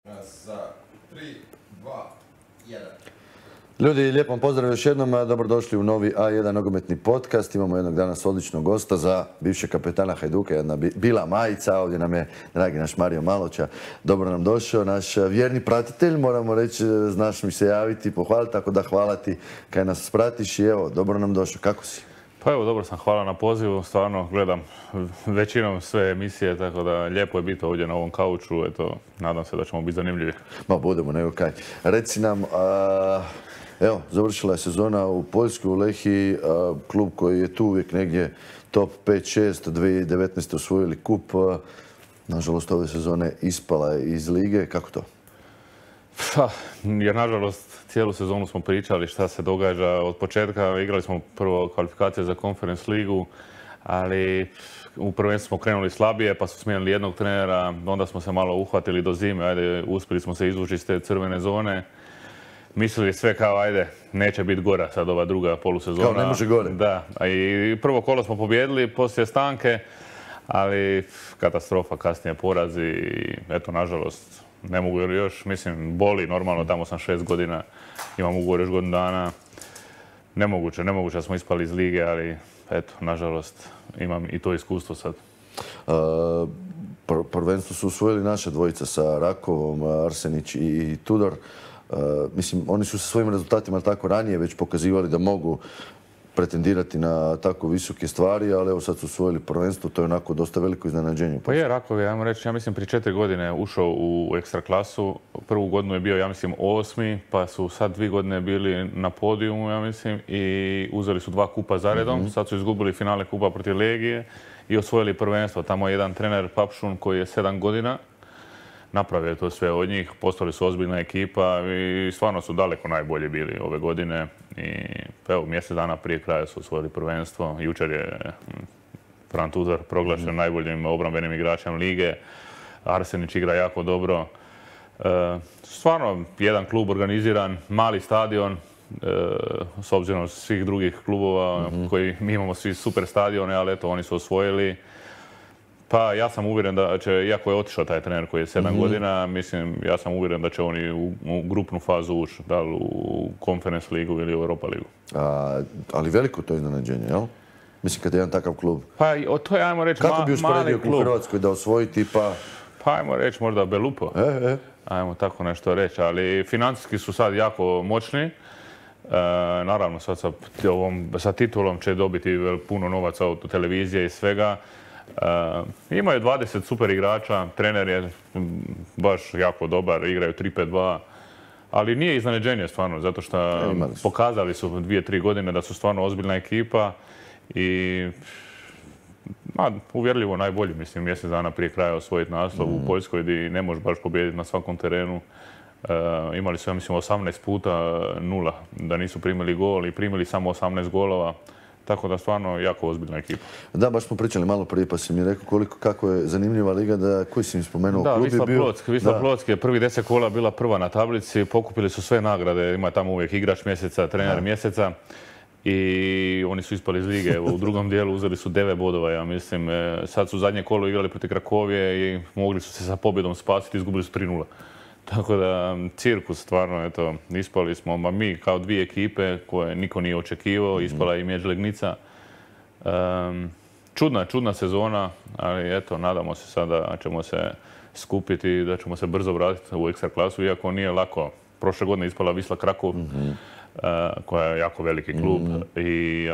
Za 3, 2, 1. Ljudi, lijepom pozdrav još jednom, dobrodošli u novi A1 nogometni podcast. Imamo jednog danas odličnog gosta za bivšeg kapetana Hajduka, jedna bila majica. Ovdje nam je dragi naš Mario Maloća. Dobro nam došao, naš vjerni pratitelj, moramo reći, znaš mi se javiti, pohvaliti, tako da hvala ti kaj nas pratiš i evo, dobro nam došao. Kako si? Pa evo, dobro sam, hvala na pozivu, stvarno gledam većinom sve emisije, tako da lijepo je biti ovdje na ovom kauču, eto, nadam se da ćemo biti zanimljivi. Ma budemo, nego kaj. Reci nam, evo, završila je sezona u Poljskoj, u Lehiji, klub koji je tu uvijek negdje top 5-6, 2019. osvojili kup, nažalost ove sezone ispala je iz lige, kako to? Pa, jer nažalost cijelu sezonu smo pričali šta se događa od početka. Igrali smo prvo kvalifikacije za Conference ligu, ali u prvenstvu smo krenuli slabije, pa su smijenili jednog trenera, onda smo se malo uhvatili do zime, ajde, uspjeli smo se izvući iz te crvene zone. Mislili sve kao, ajde, neće biti gora sad ova druga polusezona. Kao ne može gore. Da, i prvo kolo smo pobijedili poslije stanke, ali katastrofa, kasnije porazi i eto, nažalost, ne mogu još, mislim, boli, normalno, tamo sam 6 godina, imam ugovor još godinu dana. Nemoguće da smo ispali iz lige, ali eto, nažalost, imam i to iskustvo sad. Prvenstvo su usvojili naše dvojica sa Rakovom, Arsenić i Tudor. Mislim, oni su sa svojim rezultatima tako ranije već pokazivali da mogu pretendirati na tako visoke stvari, ali evo sad su osvojili prvenstvo, to je onako dosta veliko iznenađenje. Pa je, Rakov je, ajmo reći, ja mislim prije 4 godine ušao u ekstra klasu. Prvu godinu je bio, ja mislim, 8. pa su sad 2 godine bili na podijumu, ja mislim, i uzeli su 2 kupa zaredom. Sad su izgubili finale kupa protiv Legije i osvojili prvenstvo. Tamo je jedan trener Papšun koji je 7 godina. Napravio je to sve od njih, postali su ozbiljna ekipa i stvarno su daleko najbolji bili ove godine. I evo, mjesec dana prije kraja su osvojili prvenstvo. Jučer je Fran Tudor proglašen najboljim obrambenim igračem lige. Arsenić igra jako dobro. Stvarno, jedan klub organiziran, mali stadion, s obzirom svih drugih klubova koji mi imamo svi super stadione, ali eto, oni su osvojili. Pa ja sam uvjeren da će, iako je otišao taj trener koji je 7 godina, mislim, ja sam uvjeren da će oni u grupnu fazu ući, da li u Conference ligu ili u Europa ligu. Ali veliko to iznenađenje, jel? Mislim, kad je jedan takav klub. Pa to je, ajmo reći, kako bi usporedio u Hrvatskoj da osvoji tipa? Pa ajmo reći možda Belupo. Ajmo tako nešto reći, ali financijski su sad jako moćni. Naravno, sad sa titulom će dobiti puno novaca od televizije i svega. Imaju 20 super igrača, trener je baš jako dobar, igraju 3-5-2, ali nije iznenađenje stvarno, zato što pokazali su 2-3 godine da su stvarno ozbiljna ekipa i uvjerljivo najbolji, mislim, mjesec dana prije kraja osvojiti naslov u Poljskoj gdje ne možeš baš pobijediti na svakom terenu. Imali su, ja mislim, 18 puta 0, da nisu primili gol i primili samo 18 golova. Tako da stvarno jako ozbiljna ekipa. Da, baš smo pričali malo prije pa si mi rekao kako je zanimljiva liga, da koji si mi spomenuo klub je bio. Wisla Plock je prvi 10 kola bila prva na tablici, pokupili su sve nagrade, ima tamo uvijek igrač mjeseca, trener mjeseca i oni su ispali iz lige. Evo, u drugom dijelu uzeli su 9 bodova, ja mislim. Sad su zadnje kolo igrali protiv Krakovije i mogli su se sa pobjedom spasiti, izgubili su 3-0. Tako da, cirkus, stvarno, eto, ispali smo, mi kao dvije ekipe koje niko nije očekivao, ispala i Mjeđ Legnica. Čudna sezona, ali eto, nadamo se sada da ćemo se skupiti i da ćemo se brzo vratiti u ekstra klasu, iako nije lako. Prošle godine ispala Wisla Krakov, koja je jako veliki klub,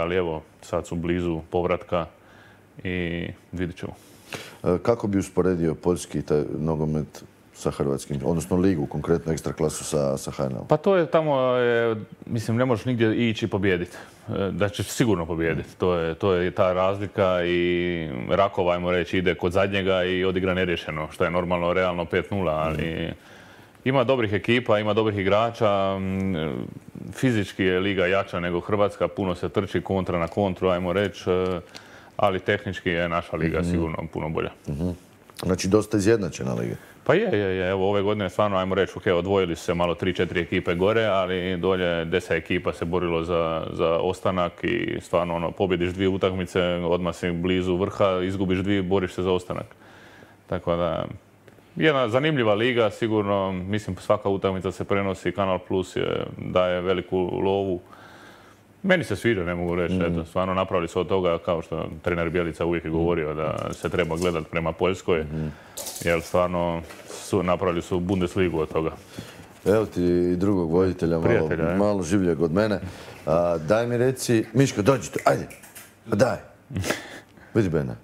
ali evo, sad su blizu povratka i vidit ćemo. Kako bi usporedio poljski taj nogomet sa hrvatskim, odnosno ligu, konkretno ekstra klasu sa HNL? Pa to je tamo, mislim, ne možeš nigdje ići pobijediti. Da ćeš sigurno pobijediti. To je ta razlika i Rakov, ajmo reći, ide kod zadnjega i odigra neriješeno, što je normalno, realno 5-0, ali ima dobrih ekipa, ima dobrih igrača. Fizički je liga jača nego Hrvatska, puno se trči kontra na kontru, ajmo reći, ali tehnički je naša liga sigurno puno bolja. Znači, dosta izjednačena liga. Pa je. Evo, ove godine stvarno, ajmo reći, odvojili su se malo 3-4 ekipe gore, ali dolje 10 ekipa se borilo za ostanak i stvarno, pobjediš 2 utakmice, odmah si blizu vrha, izgubiš 2, boriš se za ostanak. Tako da, jedna zanimljiva liga, sigurno, mislim svaka utakmica se prenosi, Kanal Plus daje veliku lovu. Meni se sviđa, ne mogu reći, eto, stvarno napravili su od toga, kao što trener Bjelica uvijek je govorio, da se treba gledati prema Poljskoj, jer stvarno napravili su Bundesligu od toga. Evo ti i drugog voditelja, malo življeg od mene. Daj mi reci, Miško, dođi tu, ajde, daj. Vidi Bena.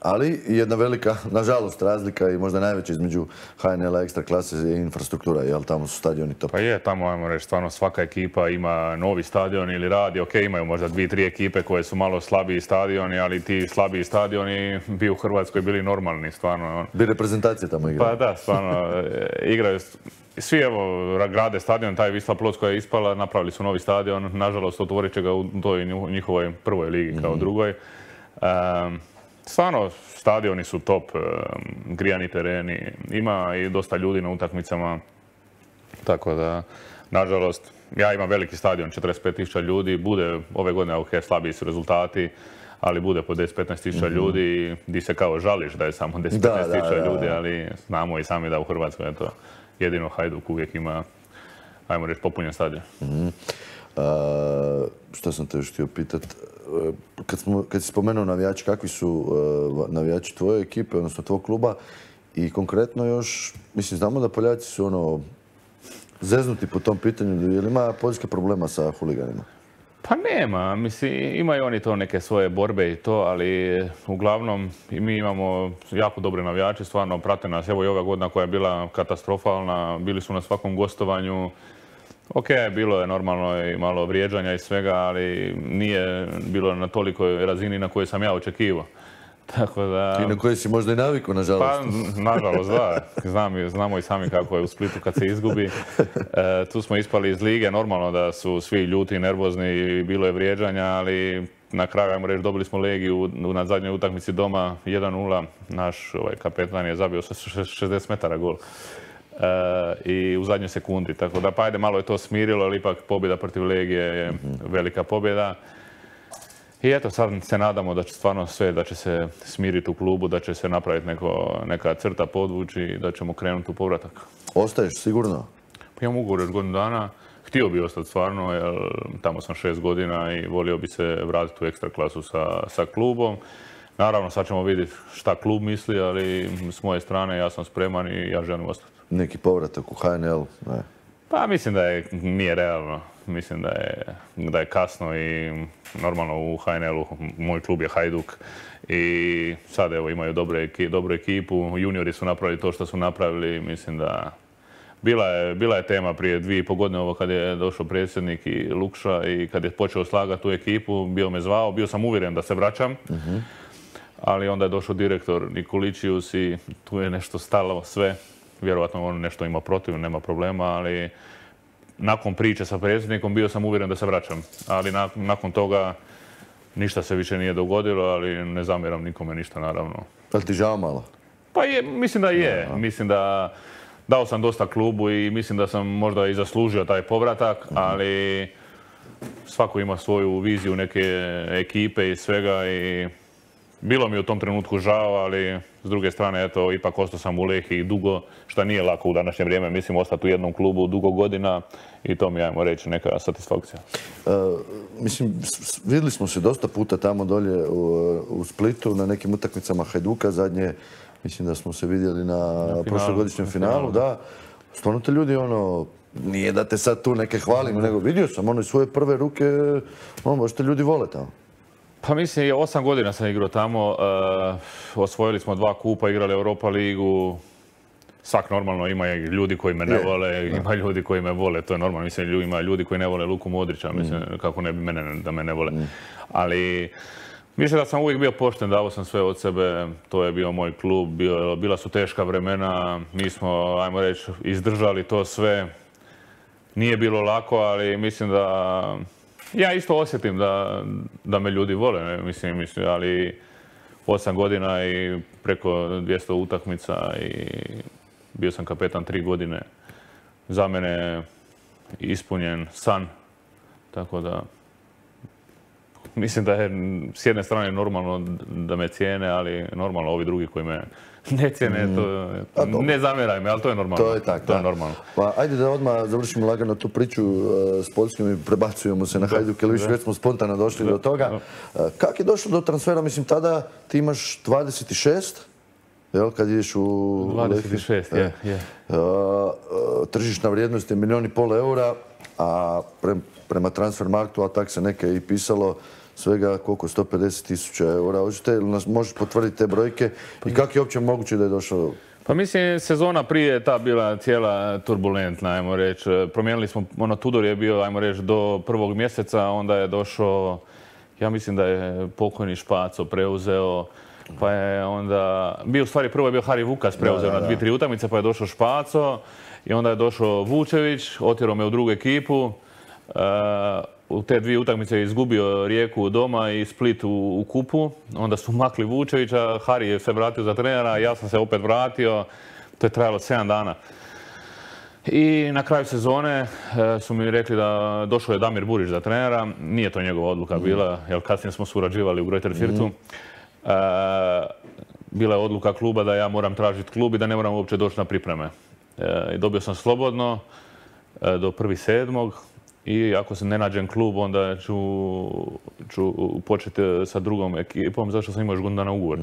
Ali jedna velika, nažalost, razlika i možda najveća između HNL-a ekstra klase je infrastruktura, jel tamo su stadioni top? Pa je, tamo, ajmo reći, stvarno svaka ekipa ima novi stadion ili radi, ok, imaju možda 2-3 ekipe koje su malo slabiji stadioni, ali ti slabiji stadioni bi u Hrvatskoj bili normalni, stvarno. Bi reprezentacije tamo igraju? Pa da, stvarno, igraju. Svi evo grade stadion, taj Wisla Plock koja je ispala, napravili su novi stadion, nažalost otvorit će ga u toj njihovoj prvoj ligi kao drugoj. Stvarno, stadioni su top, grijani tereni, ima i dosta ljudi na utakmicama, tako da, nažalost, ja imam veliki stadion, 45.000 ljudi, bude ove godine, ok, slabiji su rezultati, ali bude po 10-15.000 ljudi, di se kao žališ da je samo 10-15.000 ljudi, ali znamo i sami da u Hrvatskoj je to jedino Hajduk uvijek ima, ajmo reći, popunjen stadion. Što sam te još htio pitat, kad si spomenuo navijači, kakvi su navijači tvoje ekipe, odnosno tvog kluba i konkretno još, mislim, znamo da Poljaci su zeznuti po tom pitanju, je li ima poljske problema sa huliganima? Pa nema, mislim, imaju oni to neke svoje borbe i to, ali uglavnom mi imamo jako dobre navijače, stvarno prate nas, evo i ova godina koja je bila katastrofalna, bili su na svakom gostovanju. Ok, bilo je normalno i malo vrijeđanja i svega, ali nije bilo na tolikoj razini na kojoj sam ja očekivao. Tako da... I na kojoj si možda i navikao, nažalost. Pa, nažalost, da. Znamo i sami kako je u Splitu kad se izgubi. Tu smo ispali iz lige, normalno da su svi ljuti i nervozni i bilo je vrijeđanja, ali na kraju, ajmo reći, dobili smo Legiju na zadnjoj utakmici doma 1-0. Naš kapetan je zabio 60 metara gol. I u zadnjoj sekundi, tako da pa ajde malo je to smirilo, ali ipak pobjeda protiv Legije je velika pobjeda. I eto, sad se nadamo da će stvarno sve, da će se smiriti u klubu, da će se napraviti neka crta podvući i da ćemo krenuti u povratak. Ostaješ sigurno? Pa imam ugovor još godinu dana. Htio bi ostati stvarno, jer tamo sam 6 godina i volio bi se vratiti u ekstra klasu sa klubom. Naravno, sad ćemo vidjeti šta klub misli, ali s moje strane ja sam spreman i ja želim ostati. Neki povratak u HNL? Ne. Pa mislim da nije realno. Mislim da je kasno i normalno u HNL-u moj klub je Hajduk i sad evo imaju dobru ekipu. Juniori su napravili to što su napravili. Mislim da bila je tema prije 2,5 godine ovo kad je došao predsjednik i Lukša i kad je počeo slagati tu ekipu, bio me zvao, bio sam uvjeren da se vraćam. Ali onda je došao direktor Nikoličius i tu je nešto stalo sve. Vjerojatno on nešto ima protiv, nema problema, ali nakon priče sa predsjednikom bio sam uvjeren da se vraćam. Ali nakon toga ništa se više nije dogodilo, ali ne zamjeram nikome ništa, naravno. Ali ti žao malo? Pa mislim da je. Mislim da dao sam dosta klubu i mislim da sam možda i zaslužio taj povratak, ali svako ima svoju viziju neke ekipe i svega i bilo mi je u tom trenutku žao, ali s druge strane, eto, ipak ostao sam u Lehiji dugo, što nije lako u današnje vrijeme, mislim, ostati u jednom klubu dugo godina i to mi je, ajmo reći, neka satisfakcija. Mislim, vidjeli smo se dosta puta tamo dolje u Splitu na nekim utakmicama Hajduka, zadnje, mislim da smo se vidjeli na prošlogodišnjem finalu, da. Stvarno te ljudi, nije da te sad tu neke hvalim, nego vidio sam, iz svoje prve ruke, baš te ljudi vole tamo. Pa mislim, 8 godina sam igrao tamo, osvojili smo 2 kupa, igrali Europa ligu. Svak normalno ima ljudi koji me ne vole, ima ljudi koji me vole, to je normalno. Mislim, ima ljudi koji ne vole Luku Modrića, mislim, kako ne bi mene da me ne vole. Ali mislim da sam uvijek bio pošten, dao sam sve od sebe, to je bio moj klub, bila su teška vremena, mi smo, ajmo reći, izdržali to sve. Nije bilo lako, ali mislim da ja isto osjetim da me ljudi vole, mislim, ali 8 godina i preko 200 utakmica i bio sam kapetan 3 godine. Za mene ispunjen san, tako da mislim da je s jedne strane normalno da me cijene, ali normalno ovi drugi koji me ne cijene, to ne zamjeraj me, ali to je normalno. To je tako, to je normalno. Pa ajde da odmah završimo lagano tu priču s Poljskom i prebacujemo se na Hajduk, jer već smo spontano došli do toga. Kako je došlo do transfera? Mislim, tada ti imaš 26, jel, kad ideš u... 26, je. Tržišna vrijednost je 1,5 milijuna eura, a prema Transfermarktu, a tak se neke i pisalo, svega koliko, 150.000 eura. Hoćete li nas možeš potvrditi te brojke i kako je uopće moguće da je došao? Pa mislim, sezona prije je ta bila cijela turbulentna, ajmo reći. Promijenili smo, Tudor je bio, ajmo reći, do 1. mjeseca, onda je došao, ja mislim da je pokojni Špaco preuzeo, pa je onda, u stvari prvo je bio Hari Vukas preuzeo na 2-3 utakmice, pa je došao Špaco i onda je došao Vučević, otjerao me u drugu ekipu. U te 2 utakmice je izgubio Rijeku doma i Split u kupu. Onda su makli Vučevića, Hari je se vratio za trenera, ja sam se opet vratio. To je trajalo 7 dana. I na kraju sezone su mi rekli da došao je Damir Burić za trenera. Nije to njegova odluka bila, jer kasnije smo surađivali u Greuther Fürthu. Bila je odluka kluba da ja moram tražiti klub i da ne moram uopće doći na pripreme. I dobio sam slobodno do 1.7. I ako se ne nađem klub, onda ću početi sa drugom ekipom, zašto sam imao još godinu dana ugovor.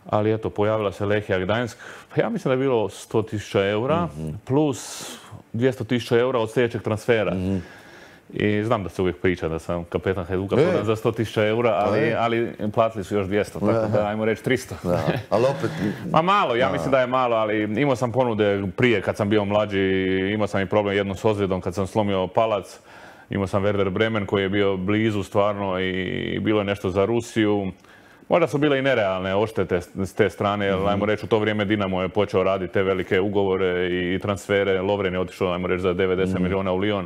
Ali eto, pojavila se Lehija Gdańsk. Ja mislim da je bilo 100.000 eura plus 200.000 eura od sljedećeg transfera. I znam da se uvijek priča da sam kapetan Hajduka prodan za 100.000 eura, ali platili su još 200, tako da ajmo reći 300. Ali opet... Ma malo, ja mislim da je malo, ali imao sam ponude prije kad sam bio mlađi, imao sam i problem jednom s ozljedom kad sam slomio palac. Imao sam Werder Bremen koji je bio blizu stvarno i bilo je nešto za Rusiju. Možda su bile i nerealne odštete s te strane, jer ajmo reći u to vrijeme Dinamo je počeo raditi te velike ugovore i transfere. Lovren je otišao, ajmo reći, za 90 milijuna u Lyon.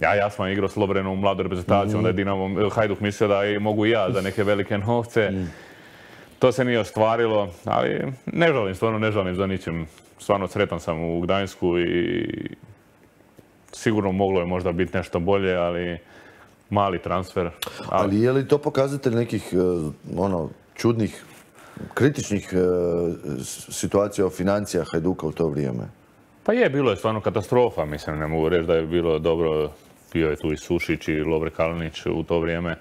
Ja sam igrao s Lovrenom u mladoj reprezentaciji, onda je Dinamo, Hajduk mislio da mogu i ja za neke velike novce. To se nije ostvarilo, ali ne žalim, stvarno ne žalim za ničim. Stvarno sretan sam u Gdańsku i sigurno moglo je možda biti nešto bolje, ali mali transfer. Ali je li to pokazatelj nekih čudnih, kritičnih situacija o financija Hajduka u to vrijeme? Pa je, bilo je stvarno katastrofa, mislim, ne mogu reći da je bilo dobro. Bio je tu i Sušić i Lovre Kalinić u to vrijeme.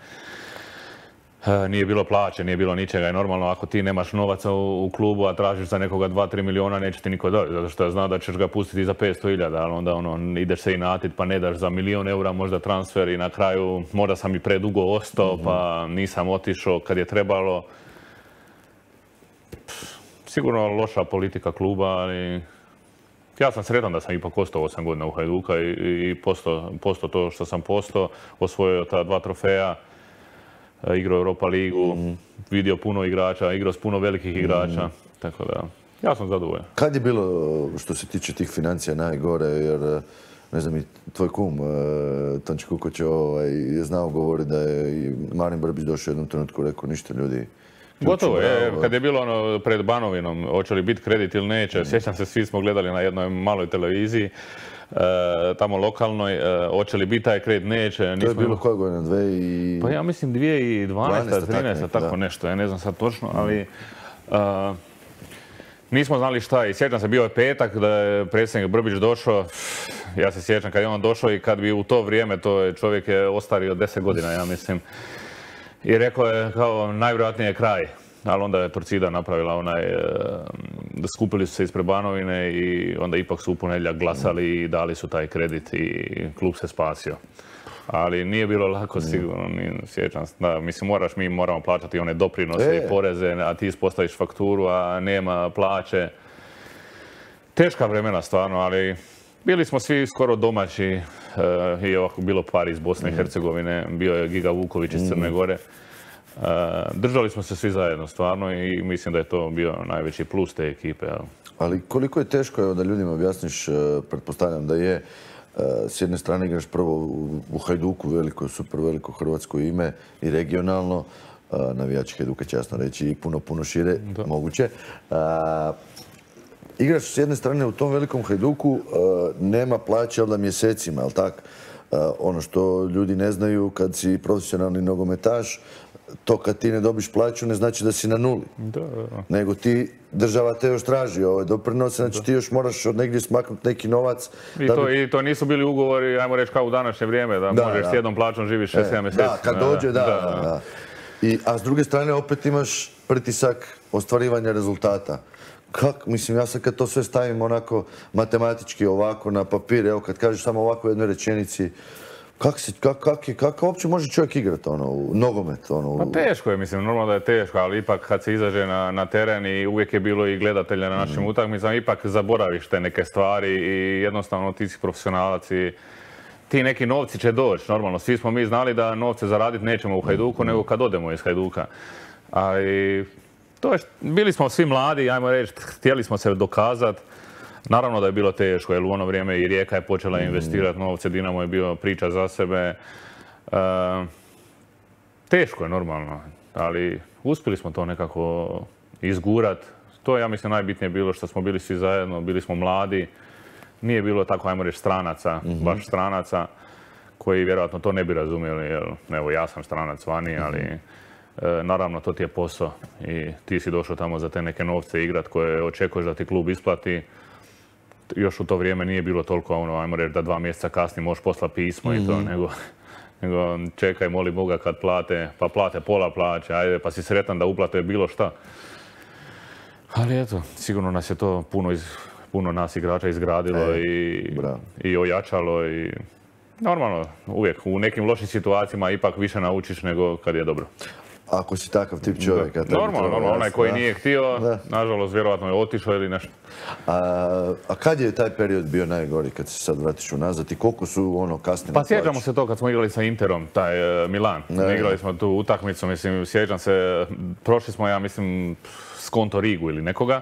Nije bilo plaće, nije bilo ničega i normalno ako ti nemaš novaca u klubu, a tražiš za nekoga 2-3 milijuna, neće ti niko dati, zato što ja znam da ćeš ga pustiti za 500.000, ali onda ideš se inatit pa ne daš za 1.000.000 eura možda transfer i na kraju možda sam i predugo ostao pa nisam otišao kad je trebalo. Sigurno loša politika kluba, ali ja sam sretan da sam ipak ostao 8 godina u Hajduka i postao to što sam postao, osvojio ta 2 trofeja, igrao Europa ligu, vidio puno igrača, igrao s puno velikih igrača, tako da ja sam zadovoljan. Kad je bilo što se tiče tih financija najgore, jer ne znam i tvoj kum, Tonči Kukoć je znao govoriti da je i Marin Brbić došao u jednom trenutku rekao ništa ljudi. Gotovo je, kad je bilo pred Banovinom, hoće li biti kredit ili neće, sjećam se, svi smo gledali na jednoj maloj televiziji, tamo lokalnoj, hoće li biti taj kredit, neće. To je bilo koje godine? Pa ja mislim 2012, 2013, tako nešto, ja ne znam sad točno, ali nismo znali šta je. Sjećam se, bio je petak da je predsjednik Brbić došao, ja se sjećam kad je on došao i kad bi u to vrijeme, čovjek je ostario 10 godina, ja mislim. I rekao je kao najvjerojatnije je kraj, ali onda je Torcida napravila skupili su se ispred Banovine i onda ipak su u ponedjeljak glasali i dali su taj kredit i klub se spasio. Ali nije bilo lako sigurno, sjećam se. Mislim, mi moramo plaćati one doprinose i poreze, a ti ispostaviš fakturu, a nema plaće. Teška vremena stvarno, ali bili smo svi skoro domaći i ovako bilo par iz Bosne i Hercegovine, bio je Giga Vuković iz Crne Gore. Držali smo se svi zajedno stvarno i mislim da je to bio najveći plus te ekipe. Ali koliko je teško da ljudima objasniš, pretpostavljam da je, s jedne strane igraš prvo u Hajduku, super veliko hrvatsko ime i regionalno, navijači Hajduka će jasno reći i puno šire moguće. Igraš s jedne strane u tom velikom Hajduku, nema plaće onda mjesecima, jel' tak? Ono što ljudi ne znaju, kad si profesionalni nogometaš, to kad ti ne dobiš plaću ne znači da si na nuli. Nego ti, država te još traži ove doprinose, znači ti još moraš od negdje smaknuti neki novac. I to nisu bili ugovori, ajmo reći, kao u današnje vrijeme, da možeš s jednom plaćom živiš 6-7 mjeseci. Da, kad dođe, da. A s druge strane opet imaš pritisak ostvarivanja rezultata. Mislim, ja sad kad to sve stavim onako matematički ovako na papir, evo kad kažeš samo ovako u jednoj rečenici, kako uopće može čovjek igrati u nogomet? Pa teško je, mislim, normalno da je teško, ali ipak kad se izađe na teren i uvijek je bilo i gledatelja na našim utakmicama, ipak zaboraviš te neke stvari i jednostavno ti si profesionalac i ti neki novci će doći, normalno. Svi smo mi znali da novce zaraditi nećemo u Hajduku, nego kad odemo iz Hajduka. Ali bili smo svi mladi, ajmo reći, htjeli smo se dokazati. Naravno da je bilo teško, jer u ono vrijeme i Rijeka je počela investirati novce, Dinamo je bio priča za sebe. Teško je normalno, ali uspjeli smo to nekako izgurati. To je, ja mislim, najbitnije bilo što smo bili svi zajedno, bili smo mladi. Nije bilo tako, ajmo reći, stranaca, baš stranaca, koji vjerojatno to ne bi razumjeli, jer evo ja sam stranac vani, ali naravno to ti je posao i ti si došao tamo za te neke novce igrat koje očekuješ da ti klub isplati. Još u to vrijeme nije bilo toliko, ajmo reći, da 2 mjeseca kasnije možeš poslati pismo i to, nego čekaj, moli Boga kad plate, pa plate pola plaće, ajde, pa si sretan da uplate bilo šta. Ali eto, sigurno nas je to puno nas igrača izgradilo i ojačalo i normalno, uvijek u nekim lošim situacijama ipak više naučiš nego kad je dobro. Ako si takav tip čovjeka. Normalno, onaj koji nije htio, nažalost, vjerojatno je otišao ili nešto. A kad je taj period bio najgori kad se sad vratiš unazad i koliko su kasnije? Pa sjećamo se to kad smo igrali sa Interom, taj Milan. Igrali smo tu utakmicu, mislim, sjećam se, prošli smo, ja mislim, Skonto Rigu ili nekoga.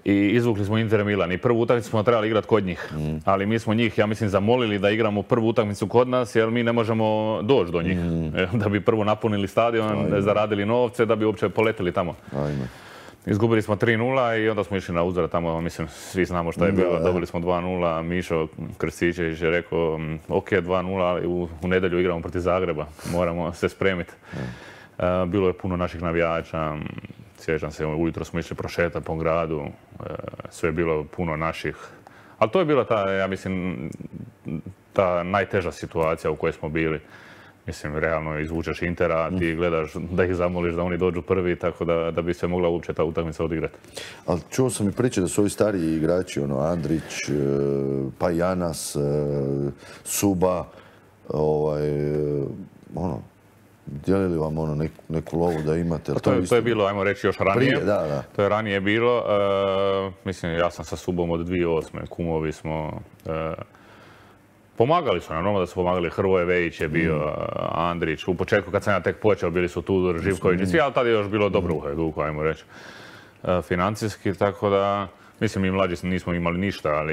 I izvukli smo Inter Milan i prvu utakmicu smo trebali igrati kod njih. Ali mi smo njih, ja mislim, zamolili da igramo prvu utakmicu kod nas jer mi ne možemo doći do njih. Da bi prvo napunili stadion, zaradili novce, da bi uopće poletili tamo. Izgubili smo 3-0 i onda smo išli na uzvrat tamo, mislim, svi znamo šta je bilo. Dobili smo 2-0, Mišo Krstičević je rekao, ok, 2-0, ali u nedjelju igramo protiv Zagreba, moramo se spremiti. Bilo je puno naših navijača. Sjećam se, ujutro smo išli prošetati po gradu, sve je bilo puno naših. Ali to je bila ta, ja mislim, ta najteža situacija u kojoj smo bili. Mislim, realno izvučeš Intera, ti gledaš da ih zamoliš da oni dođu prvi, tako da bi se mogla uopće ta utakmica odigrati. Ali čuo sam i priče da su ovi stariji igrači, Andrić, pa Janas, Suba, dijelili vam neku lovu da imate? To je bilo, ajmo reći, još ranije. To je ranije bilo. Mislim, ja sam sa Subom od 2008. Kumovi smo. Pomagali su nam, normalno da su pomagali. Hrvoje Vejić je bio, Andrić. U početku kad sam ja tek počeo bili su Tudor, Živković i svi, ali tada je još bilo dobro u Hajduku, ajmo reći. Financijski, tako da, mislim, mi mlađi nismo imali ništa,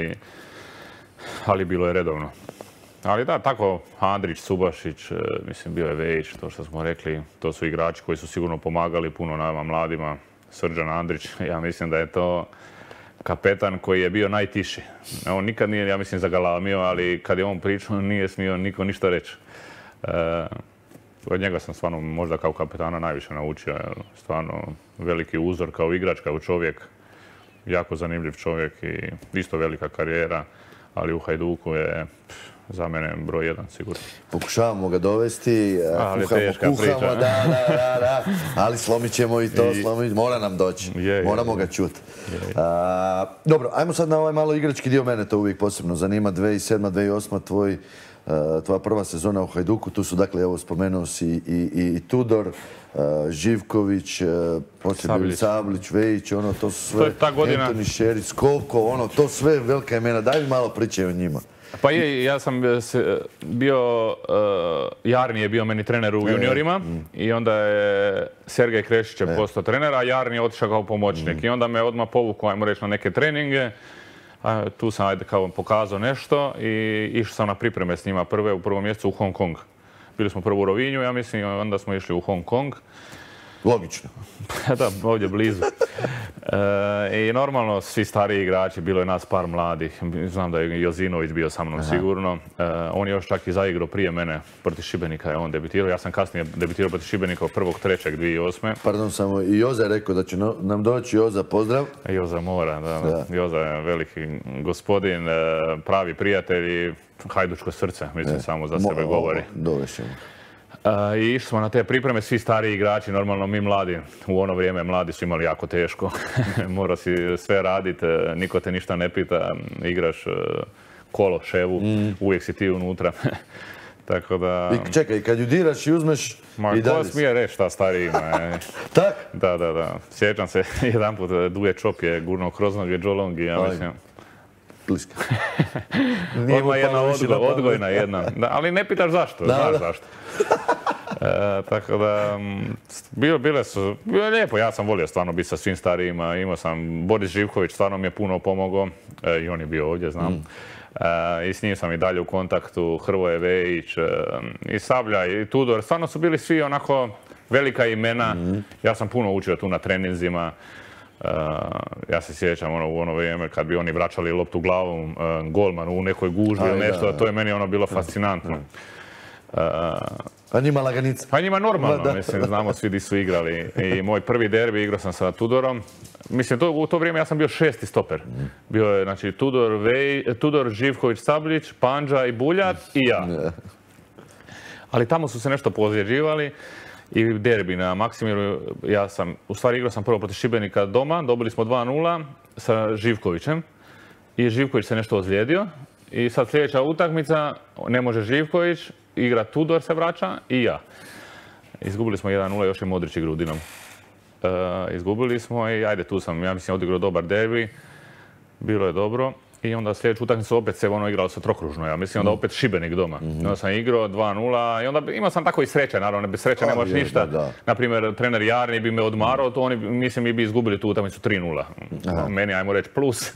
ali bilo je redovno. Ali da, tako Andrić, Subašić, mislim, bio je Vejić, to što smo rekli, to su igrači koji su sigurno pomagali puno nama mladima. Srđan Andrić, ja mislim da je to kapetan koji je bio najtiši. On nikad nije, ja mislim, zagalamio, ali kad je on pričao nije smio niko ništa reći. Od njega sam stvarno možda kao kapetana najviše naučio. Stvarno veliki uzor kao igrač, kao čovjek. Jako zanimljiv čovjek i isto velika karijera, ali u Hajduku je za mene broj 1, sigurno. Pokušavamo ga dovesti, kuhamo, da, ali slomit ćemo i to, mora nam doći, moramo ga čuti. Dobro, ajmo sad na ovaj malo igrački dio, mene to uvijek posebno zanima, 2007-2008, tvoja prva sezona u Hajduku, tu su, dakle, evo, spomenuo si i Tudor, Živković, poslije bili Sablić, Vejić, to su sve, Antoni Šerić, Koliko, to sve velika imena, daj mi malo priče o njima. Pa ja sam bio, Jarni je bio meni trener u juniorima i onda je Sergej Krešić je postao trener, a Jarni je otišao kao pomoćnik. I onda me odmah povukao, ajmo reći, na neke treninge. Tu sam, ajde, kao pokazao nešto i išao sam na pripreme s njima u prvom mjesecu u Hong Kong. Bili smo prvo u Rovinju, ja mislim, i onda smo išli u Hong Kong. Logično. Da, ovdje blizu. I normalno, svi stariji igrači, bilo je nas par mladih. Znam da je Jozinović bio sa mnom sigurno. On je još čak i zaigrao prije mene, protiv Šibenika je on debitirao. Ja sam kasnije debitirao protiv Šibenika 1.3.2008. Pardon, samo i Joza je rekao da će nam doći. Joza, pozdrav. Joza mora, da. Joza je veliki gospodin, pravi prijatelj i hajdučko srce, mislim, samo za sebe govori. Dovešemo. I išli smo na te pripreme, svi stariji igrači, normalno mi mladi, u ono vrijeme mladi su imali jako teško. Mora si sve raditi, niko te ništa ne pita, igraš kolo, ševu, uvijek si ti unutra. Tako da... I čekaj, kad ju diraš i uzmeš i dalje... Ko smije reći šta stariji ima? Tak? Da. Sjećam se, jedan put Duje Čop je gurnuo kroz noge Džolongi, ja mislim. Bliska. Ima jedna odgojna jedna, ali ne pitaš zašto, znaš zašto. Tako da, bilo je lijepo, ja sam volio stvarno biti sa svim starijima, imao sam, Boris Živković stvarno mi je puno pomogao, i on je bio ovdje, znam. I s njim sam i dalje u kontaktu, Hrvoje Vejić, i Sablja, i Tudor, stvarno su bili svi onako velika imena, ja sam puno učio tu na treninzima. Ja se sjećam u ono vrijeme kad bi oni vraćali loptu glavom golmanu u nekoj gužbi ili nešto, to je meni bilo fascinantno. A njima laganica? Pa njima normalno, mislim, znamo svi di su igrali. I moj prvi derbi igrao sam sa Tudorom. Mislim, u to vrijeme ja sam bio 6. stoper. Bio je, znači, Tudor, Živković, Sabljić, Pandža i Buljat i ja. Ali tamo su se nešto pozjeđivali. I derbi na Maksimiru, u stvari igrao sam prvo protiv Šibenika doma, dobili smo 2:0 sa Živkovićem i Živković se nešto ozlijedio i sad sljedeća utakmica, ne može Živković, igra Tudor se vraća i ja. Izgubili smo 1:0, još je Modrić igrao u Dinamu. Izgubili smo i ajde tu sam, ja mislim, odigrao dobar derbi, bilo je dobro. I onda sljedeću utakmicu opet se igralo se trokružno, ja mislim, onda opet Šibenik doma. Onda sam igrao 2:0 i onda imao sam tako i sreće, naravno, bez sreće ne možeš ništa. Naprimjer, trener Jarni bi me odmarao, to oni, mislim, mi bi izgubili tu utakmicu 3:0. Meni, ajmo reći, plus.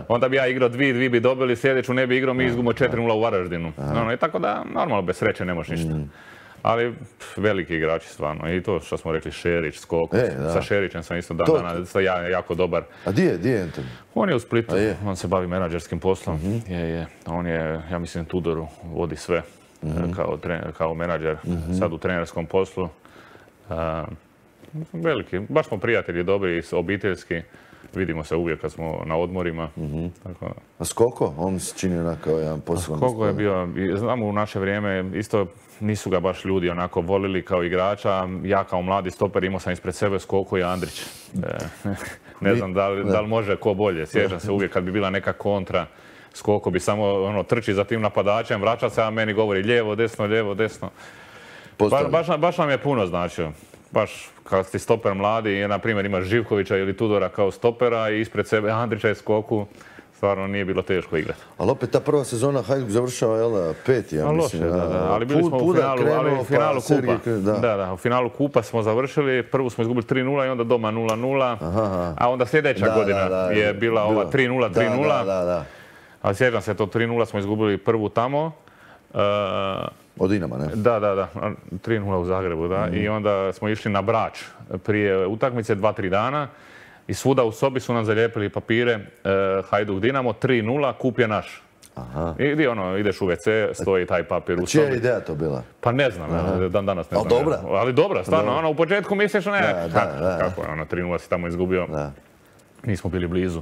Onda bi ja igrao 2 bi dobili, sljedeću ne bi igrao, mi izgubimo 4:0 u Varaždinu. I tako da, normalno, bez sreće ne možeš ništa. Ali veliki igrači stvarno. I to što smo rekli, Šerić, Skok. Sa Šerićem sam isto danas jako dobar. A di je Anton? On je u Splitu. On se bavi menadžerskim poslom. On je, ja mislim, Tudoru vodi sve kao menadžer. Sad u trenerskom poslu. Veliki. Baš smo prijatelji, dobri, obiteljski. Vidimo se uvijek kad smo na odmorima. A Skoko? On se čini onako jedan poseban. Skoko je bio, znamo u naše vrijeme, isto nisu ga baš ljudi onako volili kao igrača. Ja kao mladi stoper imao sam ispred sebe Skoko i Andrić. Ne znam da li može ko bolje. Sjećam se uvijek kad bi bila neka kontra, Skoko bi samo trči za tim napadačem, vraća se, a meni govori lijevo, desno. Baš nam je puno značio. Baš kad si stoper mladi i na primjer imaš Živkovića ili Tudora kao stopera i ispred sebe Andrića i Skoku, stvarno nije bilo teško igrati. Ali opet ta prva sezona Hajduk završava 5. ja mislim. Loše, ali bili smo u finalu kupa. U finalu kupa smo završili, prvu smo izgubili 3:0 i onda doma 0:0, a onda sljedeća godina je bila ova 3:0. Ali sjećam se, to 3:0 smo izgubili prvu tamo. Od Dinama, ne? Da. 3:0 u Zagrebu, da. I onda smo išli na Brač prije utakmice 2-3 dana i svuda u sobi su nam zalijepili papire Hajduk Dinamo, 3:0, kup je naš. Ideš u WC, stoji taj papir u sobi. Čija je ideja to bila? Pa ne znam, dan danas ne znam. Ali dobra? Ali dobra, stvarno, u početku misliš, kako je, 3:0 si tamo izgubio. Nismo bili blizu.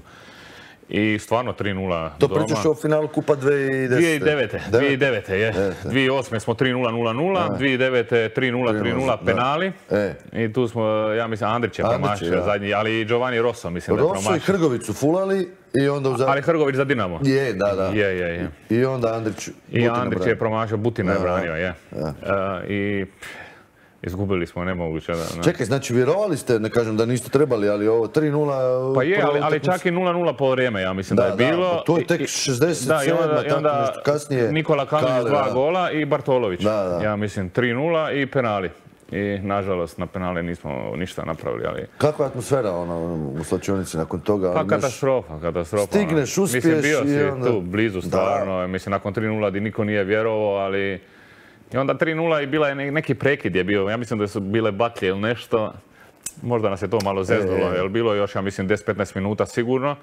I stvarno 3:0 doma. To pričaš o finalu Kupa 2010. 2009. je. 2008. smo 3:0, 0:0, 2009. 3:0, penali. I tu smo, ja mislim, Andrić je promašio zadnji, ali i Giovanni Rosso mislim da je promašio. Rosso i Hrgović su fulali i onda u Ali Hrgović za Dinamo. Je. I onda Andrić. I Andrić je promašio, Butina je branio, je. I izgubili smo, nemoguće. Čekaj, znači vjerovali ste, ne kažem da niste trebali, ali ovo 3:0... Pa je, ali čak i 0:0 po vrijeme, ja mislim da je bilo. To je tek 67, tako nešto kasnije. Nikola Kalinić 2 gola i Bartolović. Ja mislim 3:0 i penali. I nažalost na penale nismo ništa napravili, ali... Kakva je atmosfera u slačionici nakon toga? Pa katastrofa. Stigneš, uspiješ i onda... Mislim, bio si tu blizu stvarno, mislim nakon 3:0 di niko nije vjerovao, ali... I onda 3:0 i bila je neki prekid je bio. Ja mislim da su bile baklje ili nešto. Možda nas je to malo zeznulo, jer bilo je još, ja mislim, 10-15 minuta sigurno.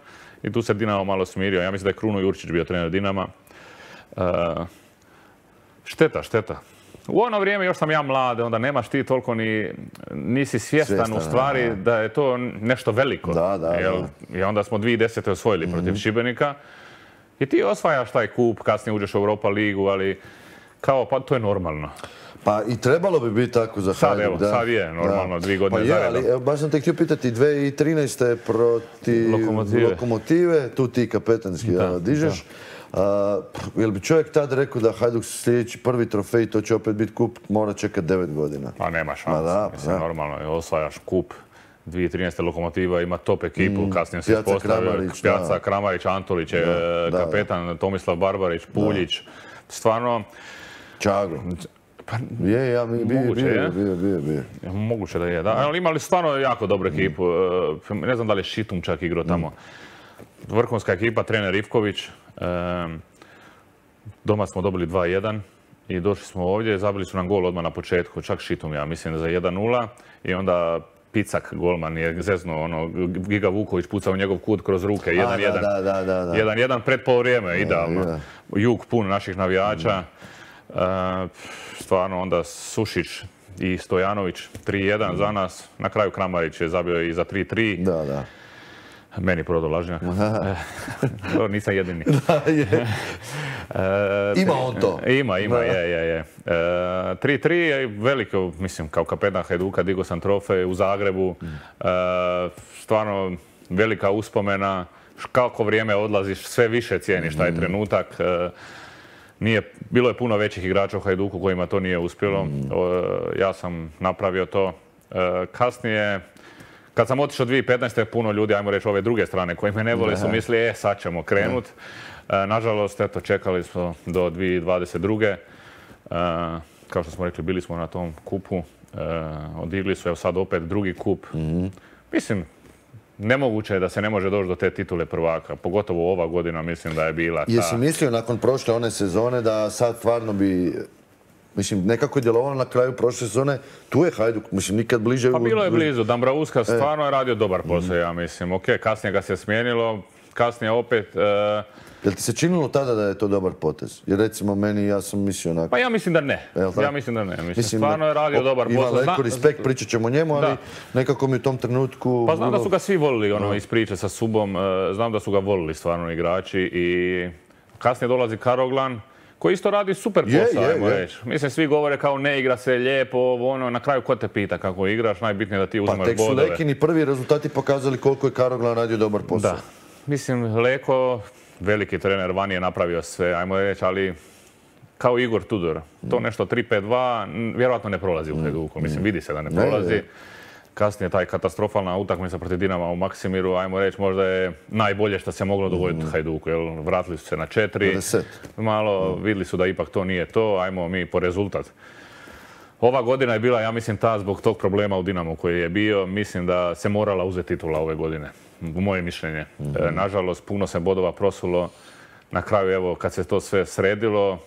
I tu se Dinamo malo smirio. Ja mislim da je Kruno Jurčić bio trener Dinama. Šteta. U ono vrijeme još sam ja mlad, onda nemaš ti toliko nisi svjestan u stvari da je to nešto veliko. I onda smo 2010. osvojili protiv Šibenika. I ti osvajaš taj kup, kasnije uđeš u Europa ligu, ali kao, pa to je normalno. Pa i trebalo bi biti tako za Hajduk. Sad je normalno, 2 godine zaredom. Ali baš sam te htio pitati, 2013. protiv Lokomotive, tu ti kapetanski dižeš. Jel bi čovjek tad rekao da Hajduk sljedeći prvi trofej, to će opet biti kup, mora čekati 9 godina? Pa nema šanse, mislim, normalno, osvajaš kup. 2013. Lokomotiva ima top ekipu, kasnije se ispostavio Pjaca, Kramarić, Antolić, kapetan Tomislav Barbarić, Puljić, stvarno... Čagro. Bio. Moguće da je, da. Ali imali stvarno jako dobru ekipu. Ne znam da li je Šitum čak igrao tamo. Vrhunska ekipa, trener Ivković. Doma smo dobili 2:1 i došli smo ovdje. Zabili su nam gol odmah na početku, čak Šitum, ja mislim, za 1:0. I onda Picak, golman, je zeznuo, Giga Vuković pucao u njegov kut kroz ruke, 1:1. 1:1 pred polovrijeme, idealno. Jug pun naših navijača. Stvarno onda Sušić i Stojanović 3:1 za nas. Na kraju Kramarić je zabio i za 3:3. Meni prodao lažnjak. Nisam jedini. Ima on to. Ima, je. 3:3 je veliko, mislim, kao kapetan Hajduka digao sam trofej u Zagrebu. Stvarno velika uspomena. Kako vrijeme odlaziš, sve više cijeniš taj trenutak. Bilo je puno većih igrača u Hajduku kojima to nije uspjelo. Ja sam napravio to. Kasnije, kad sam otišao 2015. puno ljudi, ajmo reći ove druge strane koji me ne vole, su mislili, sad ćemo krenut. Nažalost, eto, čekali smo do 2022. Kao što smo rekli, bili smo na tom kupu. Odigli su, evo sad opet drugi kup. Mislim, nemoguće je da se ne može doći do te titule prvaka. Pogotovo ova godina mislim da je bila ta... Jesi mislio nakon prošle one sezone da sad stvarno bi... Mislim, nekako je djelovalo na kraju prošle sezone, tu je Hajduk, mislim, nikad bliže... Pa bilo je blizu, Dambrauska stvarno je radio dobar posao, ja mislim. Ok, kasnije ga se smijenilo, kasnije opet... Jel ti se činilo tada da je to dobar potez? Jer recimo meni, ja sam mislio onako... Pa ja mislim da ne. Mislim, stvarno je radio dobar posao. Ima Leko respekt, pričat ćemo o njemu, ali nekako mi u tom trenutku... Pa znam da su ga svi volili iz priče sa Subom, znam da su ga volili stvarno igrači i kasnije dolazi Karoglan, koji isto radi super posao, ajmo reći. Mislim, svi govore kao ne igra se lijepo, na kraju ko te pita kako igraš, najbitnije da ti uzimaš bodove. Pa tek su Lekini prvi rezultati pokazali koliko je Karoglan radio dobar posao. Da. Mislim, Leko, veliki trener, van je napravio sve, ajmo reći, ali kao Igor Tudor. To nešto 3-5-2, vjerojatno ne prolazi u Hajduku. Mislim, vidi se da ne prolazi. Kasnije taj katastrofalna utakmica protiv Dinama u Maksimiru, ajmo reći, možda je najbolje što se moglo dogoditi Hajduku. Vratili su se na 4. Malo vidjeli su da ipak to nije to, ajmo mi po rezultat. Ova godina je bila, ja mislim, ta zbog tog problema u Dinamu koji je bio. Mislim da se morala uzeti titula ove godine, u moje mišljenje. Nažalost, puno se bodova prosulo. Na kraju, evo, kad se to sve sredilo,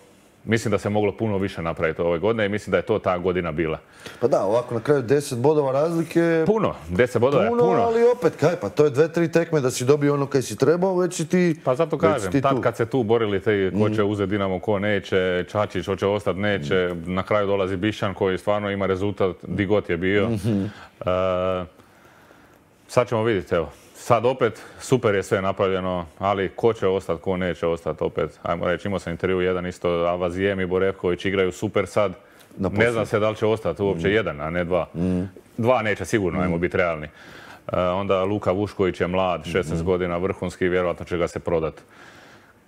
mislim da se moglo puno više napraviti ove godine i mislim da je to ta godina bila. Pa da, ovako na kraju 10 bodova razlike... Puno, 10 bodova je puno. Ali opet, pa to je 2-3 tekme da si dobio ono kaj si trebao, već si ti... Pa zato kažem, tad kad se tu borili ko će uzeti Dinamo, ko neće, Čačić hoće ostati, neće, na kraju dolazi Bišćan koji stvarno ima rezultat di god je bio. Sad ćemo vidjeti, evo. Sad opet, super je sve napravljeno, ali ko će ostati, ko neće ostati opet. Ajmo reći, imao sam intervju jedan isto, Avazijem i Borevković igraju super sad. Ne znam se da li će ostati uopće jedan, a ne dva. Dva neće sigurno, ajmo biti realni. Onda Luka Vušković je mlad, 16 godina, vrhunski, vjerojatno će ga se prodati.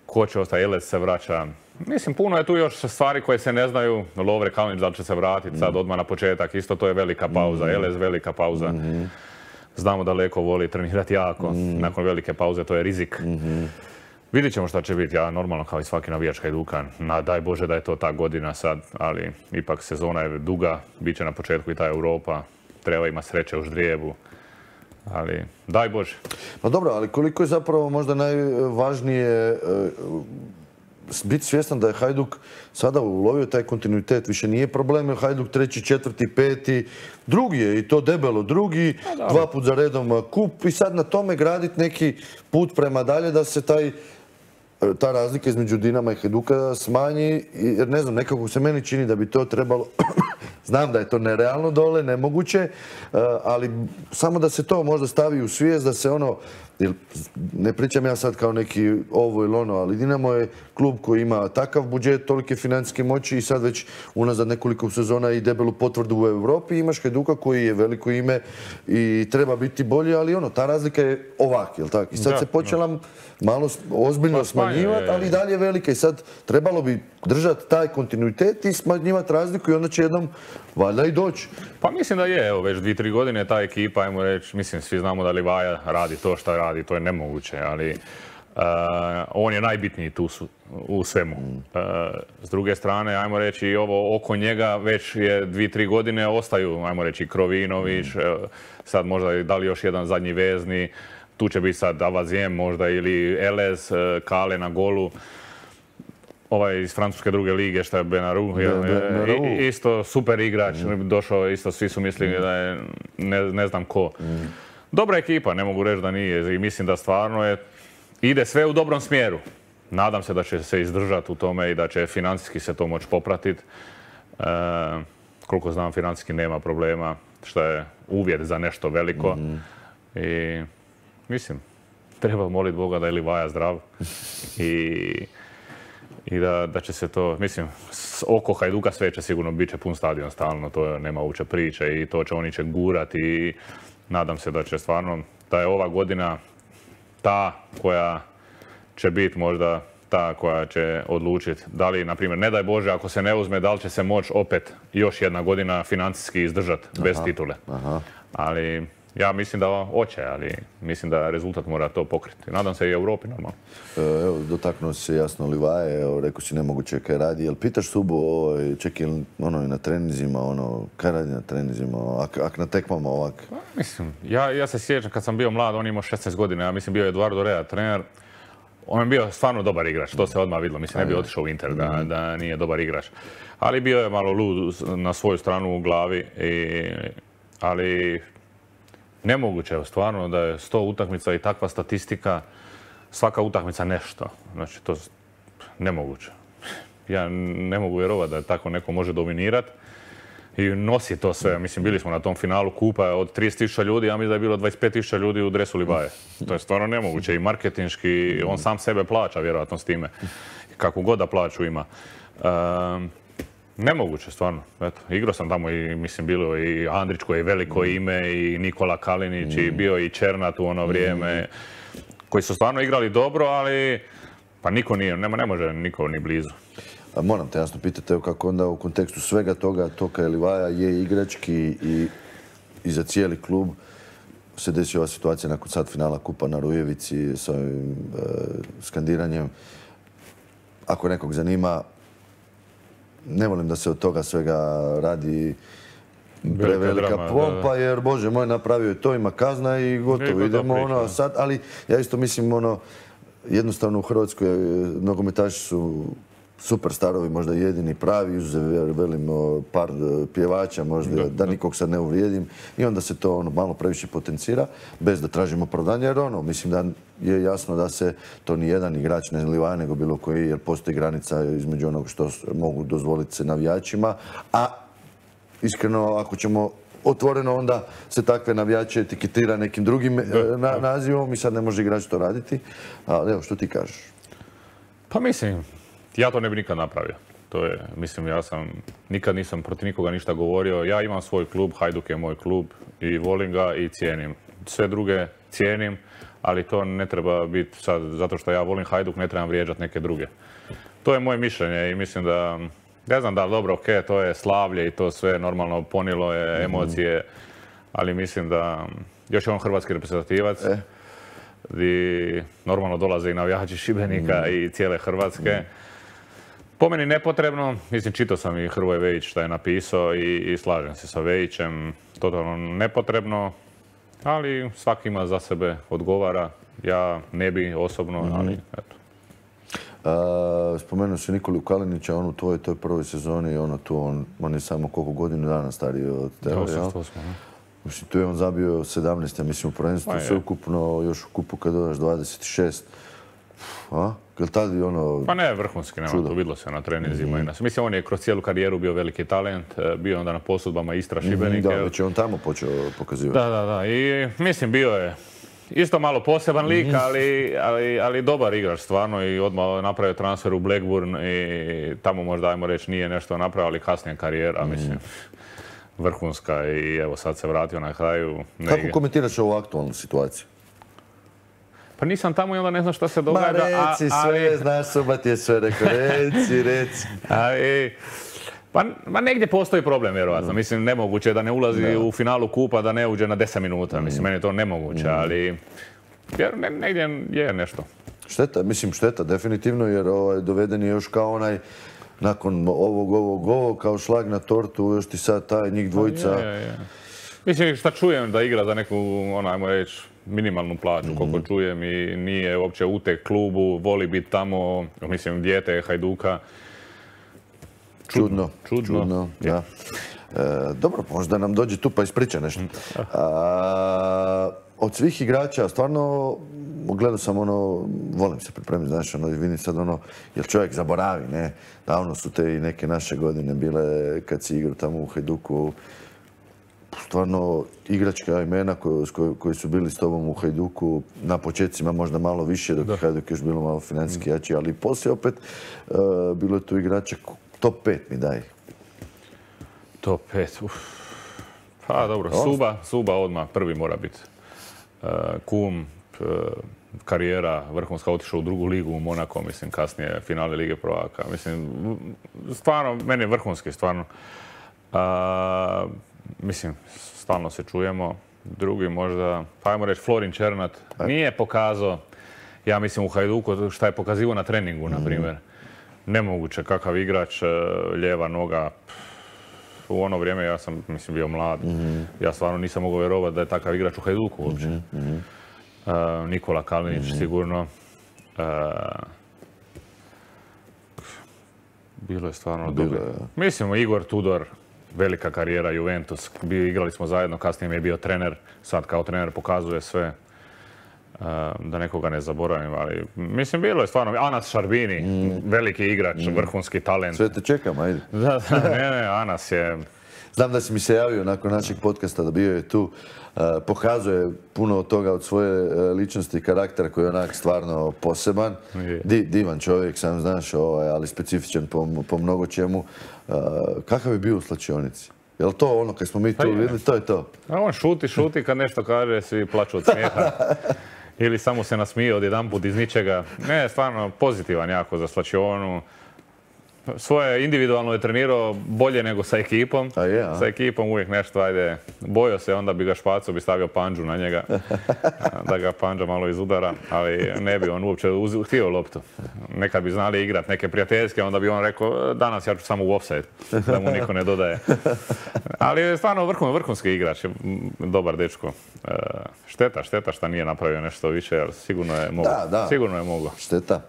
Ko će ostati, Elez se vraća. Mislim, puno je tu još stvari koje se ne znaju. Lovre Kalinić da li će se vratiti sad odmah na početak, isto to je velika pauza. Elez velika pauza. Znamo da Leko voli trenirati jako, nakon velike pauze, to je rizik. Vidjet ćemo šta će biti, ja normalno kao i svaki navijač Hajduka, daj Bože da je to ta godina sad, ali ipak sezona je duga, bit će na početku i ta Europa, treba ima sreće u ždrijebu, ali daj Bože. Pa dobro, ali koliko je zapravo možda najvažnije biti svjestan da je Hajduk sada ulovio taj kontinuitet. Više nije problem jer Hajduk 3., 4., 5. drugi je i to debelo drugi, 2 put za redom kup i sad na tome graditi neki put prema dalje da se ta razlika između Dinama i Hajduka smanji, jer ne znam, nekako se meni čini da bi to trebalo, znam da je to nerealno dole, nemoguće, ali samo da se to možda stavi u svijest, da se ne pričam ja sad kao neki ovo ili ono, ali Dinamo je klub koji ima takav budžet, tolike financijske moći i sad već unazad nekoliko sezona i debelu potvrdu u Europi. Imaš Hajduka koji je veliko ime i treba biti bolji, ali ta razlika je ovak, jel tako? I sad se počela malo ozbiljno smanjivati, ali i dalje je velika i sad trebalo bi držati taj kontinuitet i smanjivati razliku i onda će jednom valjda i doći. Pa mislim da je, evo već 2-3 godine ta ekipa, ajmo reći, mislim svi znamo da Livaja radi to što radi, to je nemoguće, ali on je najbitniji tu u svemu. S druge strane, ajmo reći, i ovo oko njega već je 2-3 godine ostaju, ajmo reći, Krovinović, sad možda da li još jedan zadnji vezni, tu će biti sad Avazijem možda ili Elez, Kale na golu. Ovaj iz francuske druge lige, što je Benaru, isto super igrač, došao isto, svi su mislili da je ne znam ko. Dobra ekipa, ne mogu reći da nije i mislim da stvarno ide sve u dobrom smjeru. Nadam se da će se izdržati u tome i da će financijski se to moći popratiti. Koliko znam, financijski nema problema, što je uvjet za nešto veliko. I mislim, treba moliti Boga da je Livaja zdrav i da će se to, mislim, oko Hajduka sve će sigurno bit će pun stadion stalno, to nema uopće priče i to će oni će gurati i nadam se da će stvarno, da je ova godina ta koja će biti možda ta koja će odlučiti da li, na primjer, ne daj Bože, ako se ne uzme, da li će se moći opet još jedna godina financijski izdržati bez titule. Ali ja mislim da hoće, ali mislim da rezultat mora to pokriti. Nadam se i Europi normalno. Evo, dotaknuo si se jasno Livaje, rekao si nemoguće kaj radi. Jel pitaš Subu, ček je na treninzima, kaj radi na treninzima, ak na tekmama ovak? Mislim, ja se sjećam kad sam bio mlad, on imao 16 godina, ja mislim bio je Eduardo Rea trener. On je bio stvarno dobar igrač, to se odmah vidjelo. Mislim, ne bi otišao u Inter da nije dobar igrač. Ali bio je malo lud na svoju stranu u glavi, ali nemoguće je stvarno da je 100 utakmica i takva statistika, svaka utakmica nešto. Znači, to je nemoguće. Ja ne mogu vjerovati da tako neko može dominirati i nosi to sve. Mislim, bili smo na tom finalu kupa od 30.000 ljudi, ja mislim da je bilo 25.000 ljudi u dresu Livaje. To je stvarno nemoguće i marketinški, on sam sebe plaća vjerojatno s time. Kakvu god da plaću ima. Nemoguće, stvarno. Eto, igrao sam tamo i, mislim, bilo i Andrić koji je veliko ime i Nikola Kalinić i bio i Černat u ono vrijeme, koji su stvarno igrali dobro, ali pa niko nije, ne može niko ni blizu. Moram te jasno pitati, kako onda u kontekstu svega toga, Toka i Livaja je igrački i za cijeli klub se desi ova situacija nakon sad finala kupa na Rujevici s ovim skandiranjem. Ako nekog zanima, ne volim da se od toga svega radi prevelika pompa, jer Bože moj, napravio je to, ima kazna i gotovo, idemo sad, ali ja isto mislim jednostavno u Hrvatskoj nogometaši su super starovi, možda jedini pravi, izuzev velim par pjevača, možda da nikog sad ne uvrijedim i onda se to malo previše potencira, bez da tražimo opravdanje, jer mislim da je jasno da se to ni jedan igrač, ne Livaja, nego bilo koji, jer postoji granica između onog što mogu dozvoliti se navijačima, a iskreno, ako ćemo otvoreno, onda se takve navijače etiketira nekim drugim nazivom i sad ne može igrač to raditi. Ali evo, što ti kažeš? Pa mislim, ja to ne bi nikad napravio. To je, mislim, nikad nisam protiv nikoga ništa govorio. Ja imam svoj klub, Hajduk je moj klub i volim ga i cijenim. Sve druge cijenim, ali to ne treba biti sad, zato što ja volim Hajduk, ne trebam vrijeđati neke druge. To je moje mišljenje i mislim da, ne znam da, dobro, ok, to je slavlje i to sve normalno ponijelo je emocije, ali mislim da još je on hrvatski reprezentativac gdje normalno dolaze i navijači Šibenika i cijele Hrvatske. Po meni nepotrebno, mislim, čitao sam i Hrvoje Vejić što je napisao i slažem se sa Vejićem, totalno nepotrebno, ali svaki ima za sebe, odgovara, ja ne bi osobno, ali eto. Spomenuo si Nikolu Kalinića, on u tvojoj toj prvoj sezoni, on je samo koliko godinu dana stariji od tebe, jel? Mislim, tu je on zabio 17, ja mislim, u prvenstvu, sveukupno, još u kupu kad dodaš 26. Jel tada ono... Pa ne, vrhunski, nema, to vidilo se na treninzima. Mislim, on je kroz cijelu karijeru bio veliki talent, bio onda na posudbama Istra Šibenik. Da, već je on tamo počeo pokazivati. Da, i mislim, bio je isto malo poseban lik, ali dobar igrač stvarno i odmah napravio transfer u Blackburn i tamo možda, ajmo reći, nije nešto napravio, ali kasnije karijera, mislim, vrhunska i evo sad se vratio na kraju. Kako komentiraš ovu aktualnu situaciju? Pa nisam tamo i onda ne znam šta se događa. Ma reci sve, znaš, Sobat je sve rekao, reci. Pa negdje postoji problem, vjerovatno. Mislim, nemoguće je da ne ulazi u finalu kupa, da ne uđe na 10 minuta. Mislim, meni je to nemoguće, ali negdje je nešto. Šteta, definitivno, jer doveden je još kao onaj, nakon ovog, kao šlag na tortu, još ti sad taj njih dvojica. Mislim, šta čujem da igra za neku, ajmo reći, minimalnu plaću, koliko čujem i nije uopće utek klubu, voli biti tamo, mislim, dijete je Hajduka. Čudno, da. Dobro, možda nam dođe tu pa ispriča nešto. Od svih igrača, stvarno, gledao sam volim se pripremiti, znaš, vidim sad jer čovjek zaboravi, ne? Davno su te i neke naše godine bile kad si igrao tamo u Hajduku. Stvarno, igračka imena koji su bili s tobom u Hajduku, na početcima možda malo više, dok je Hajduk još bilo malo financijski jači, ali poslije opet bilo je tu igrača. Top 5 mi daj. Top 5, Pa dobro, Suba odmah prvi mora biti. Kum, karijera vrhunska, otišao u drugu ligu u Monako, mislim, kasnije finale Lige prvaka. Mislim, stvarno, meni je vrhunski, stvarno. Mislim, stalno se čujemo. Drugi možda, pa ajmo reći, Florin Černat. Nije pokazao, ja mislim, u Hajduku šta je pokazivao na treningu, na primjer. Nemoguće, kakav igrač, lijeva noga. U ono vrijeme ja sam, mislim, bio mlad. Ja stvarno nisam mogao vjerovati da je takav igrač u Hajduku uopće. Nikola Kalinić, sigurno. Bilo je stvarno dobro. Mislim, Igor Tudor, velika karijera, Juventus. Igrali smo zajedno, kasnije mi je bio trener. Sad kao trener pokazuje sve. Da nekoga ne zaboravim, ali mislim, bilo je stvarno. Anas Šarbini, veliki igrač, vrhunski talent. Sve te čekam, ajde. Ne, Anas je... Znam da si mi se javio nakon našeg podcasta, da bio je tu. Pokazuje puno od toga od svoje ličnosti i karaktera koji je onak stvarno poseban. Divan čovjek, sam znaš, ali specifičan po mnogo čemu. Kakav je bio u slačionici? Je li to ono kad smo mi tu vidjeli, to je to? On šuti, kad nešto kaže, svi plaču od smijeha. Ili samo se nasmije odjedanput iz ničega. Ne, stvarno pozitivan jako za slačionu. Svoje individualno je trenirao bolje nego sa ekipom. Sa ekipom uvijek nešto, ajde, bojao se, onda bi ga špacao, bi stavio panđu na njega, da ga panđa malo izudara, ali ne bi on uopće htio loptu. Nekad bi znali igrat neke prijateljske, onda bi on rekao, danas ja ću samo u offside, da mu niko ne dodaje. Ali je stvarno vrhunski igrač, dobar dečko. Šteta što nije napravio nešto više, jer sigurno je mogao. Sigurno je mogao. Šteta.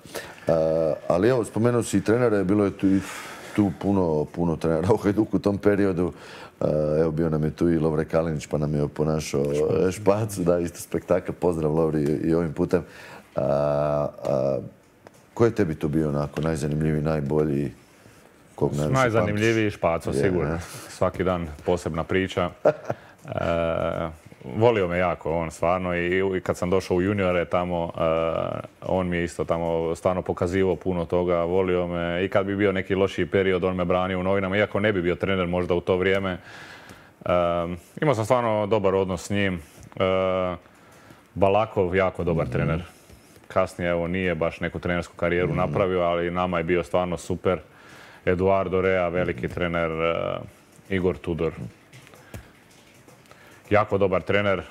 Ali evo, spomenuo si i trenere, bilo je tu puno trenera u Hajduku u tom periodu. Evo, bio nam je tu i Lovre Kalinić, pa nam je ponašao Špacu, da, isto spektakl. Pozdrav Lovri i ovim putem. Ko je tebi to bio onako najzanimljiviji, najbolji? Najzanimljiviji Špaco, sigurno. Svaki dan posebna priča. Volio me jako on stvarno i kad sam došao u juniore tamo, on mi je isto tamo stvarno pokazivao puno toga, volio me i kad bi bio neki lošiji period on me branio u novinama, iako ne bi bio trener možda u to vrijeme. Imao sam stvarno dobar odnos s njim. Balakov, jako dobar trener. Kasnije evo nije baš neku trenersku karijeru napravio, ali nama je bio stvarno super. Eduardo Rea, veliki trener, Igor Tudor. Jako dobar trener,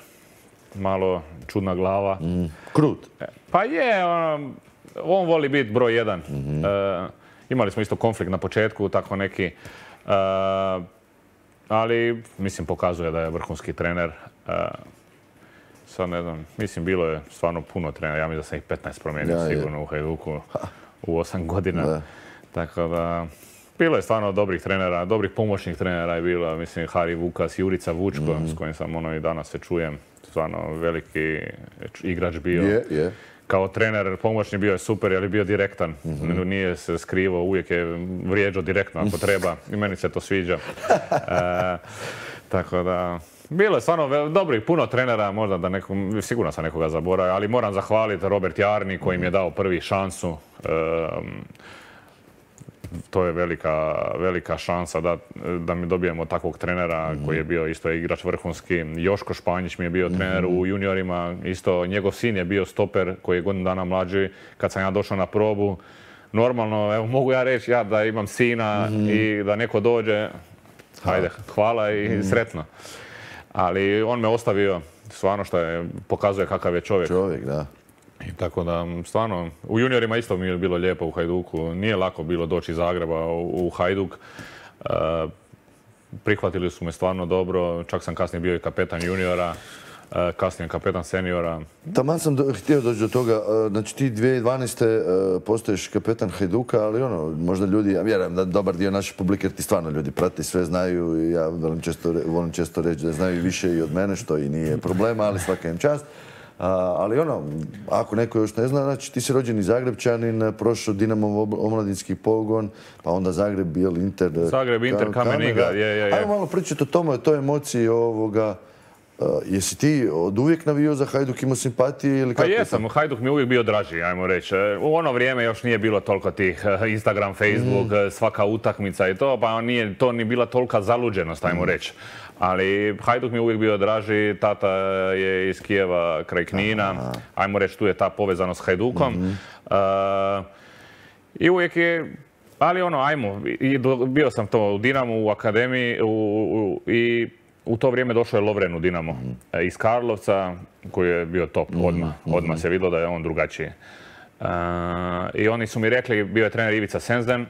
malo čudna glava. Krut. Pa je, on voli biti broj 1. Imali smo isto konflikt na početku, tako neki. Ali, mislim, pokazuje da je vrhunski trener. Sad ne znam, mislim, bilo je stvarno puno trenera. Ja mislim da sam ih 15 promijenio sigurno u Hajduku. u 8 godina. Da. Tako da, bilo je stvarno dobrih trenera, dobrih pomoćnih trenera je bilo, mislim, Hari Vukas, Jurica Vučko, s kojim sam i danas se čujem, stvarno veliki igrač bio. Je. Kao trener pomoćni bio je super, jer je bio direktan. Nije se skrivao, uvijek je vrijeđao direktno ako treba i meni se to sviđa. Tako da, bilo je stvarno dobrih, puno trenera, možda da sigurno sam nekoga zaboravio, ali moram zahvaliti Robert Jarni koji mi je dao prvi šansu. To je velika šansa da mi dobijemo takvog trenera koji je bio isto igrač vrhunski. Joško Španjić mi je bio trener u juniorima, isto njegov sin je bio stoper koji je godinu dana mlađi. Kad sam ja došao na probu, normalno, evo mogu ja reći da imam sina i da neko dođe, ajde, hvala i sretno. Ali on me ostavio, stvarno što pokazuje kakav je čovjek. Čovjek, da. I tako da, stvarno, u juniorima isto mi je bilo lijepo u Hajduku. Nije lako bilo doći iz Zagreba u Hajduk. Prihvatili su me stvarno dobro. Čak sam kasnije bio i kapetan juniora, kasnije kapetan seniora. Taman sam htio doći do toga. Znači ti 2012. postaješ kapetan Hajduka, ali možda ljudi, ja vjerujem da dobar dio naše publike, ti stvarno ljudi prati, sve znaju i ja volim često reći da znaju više i od mene, što i nije problema, ali svaka im čast. Ali ako neko još ne zna, znači ti si rođeni Zagrebčanin, prošao Dinamov omladinski pogon, pa onda Zagreb, Bijel, Inter... Zagreb, Inter, Kamen Ingrad, je. Ajmo malo pričati o tome, o toj emociji ovoga. Jesi ti od uvijek navio za Hajduk, imao simpatije ili kako? Pa jesam, Hajduk mi je uvijek bio draži, ajmo reći. U ono vrijeme još nije bilo toliko tih Instagram, Facebook, svaka utakmica i to, pa nije to ni bila tolika zaluđenost, ajmo reći. Ali Hajduk mi je uvijek bio draži, tata je iz Kijeva kraj Knina, ajmo reći tu je ta povezanost s Hajdukom. I uvijek je, ali bio sam to u Dinamu, u akademiji i u to vrijeme došao je Lovren u Dinamo iz Karlovca, koji je bio top odmah se vidjelo da je on drugačiji. I oni su mi rekli, bio je trener Ivica Sensden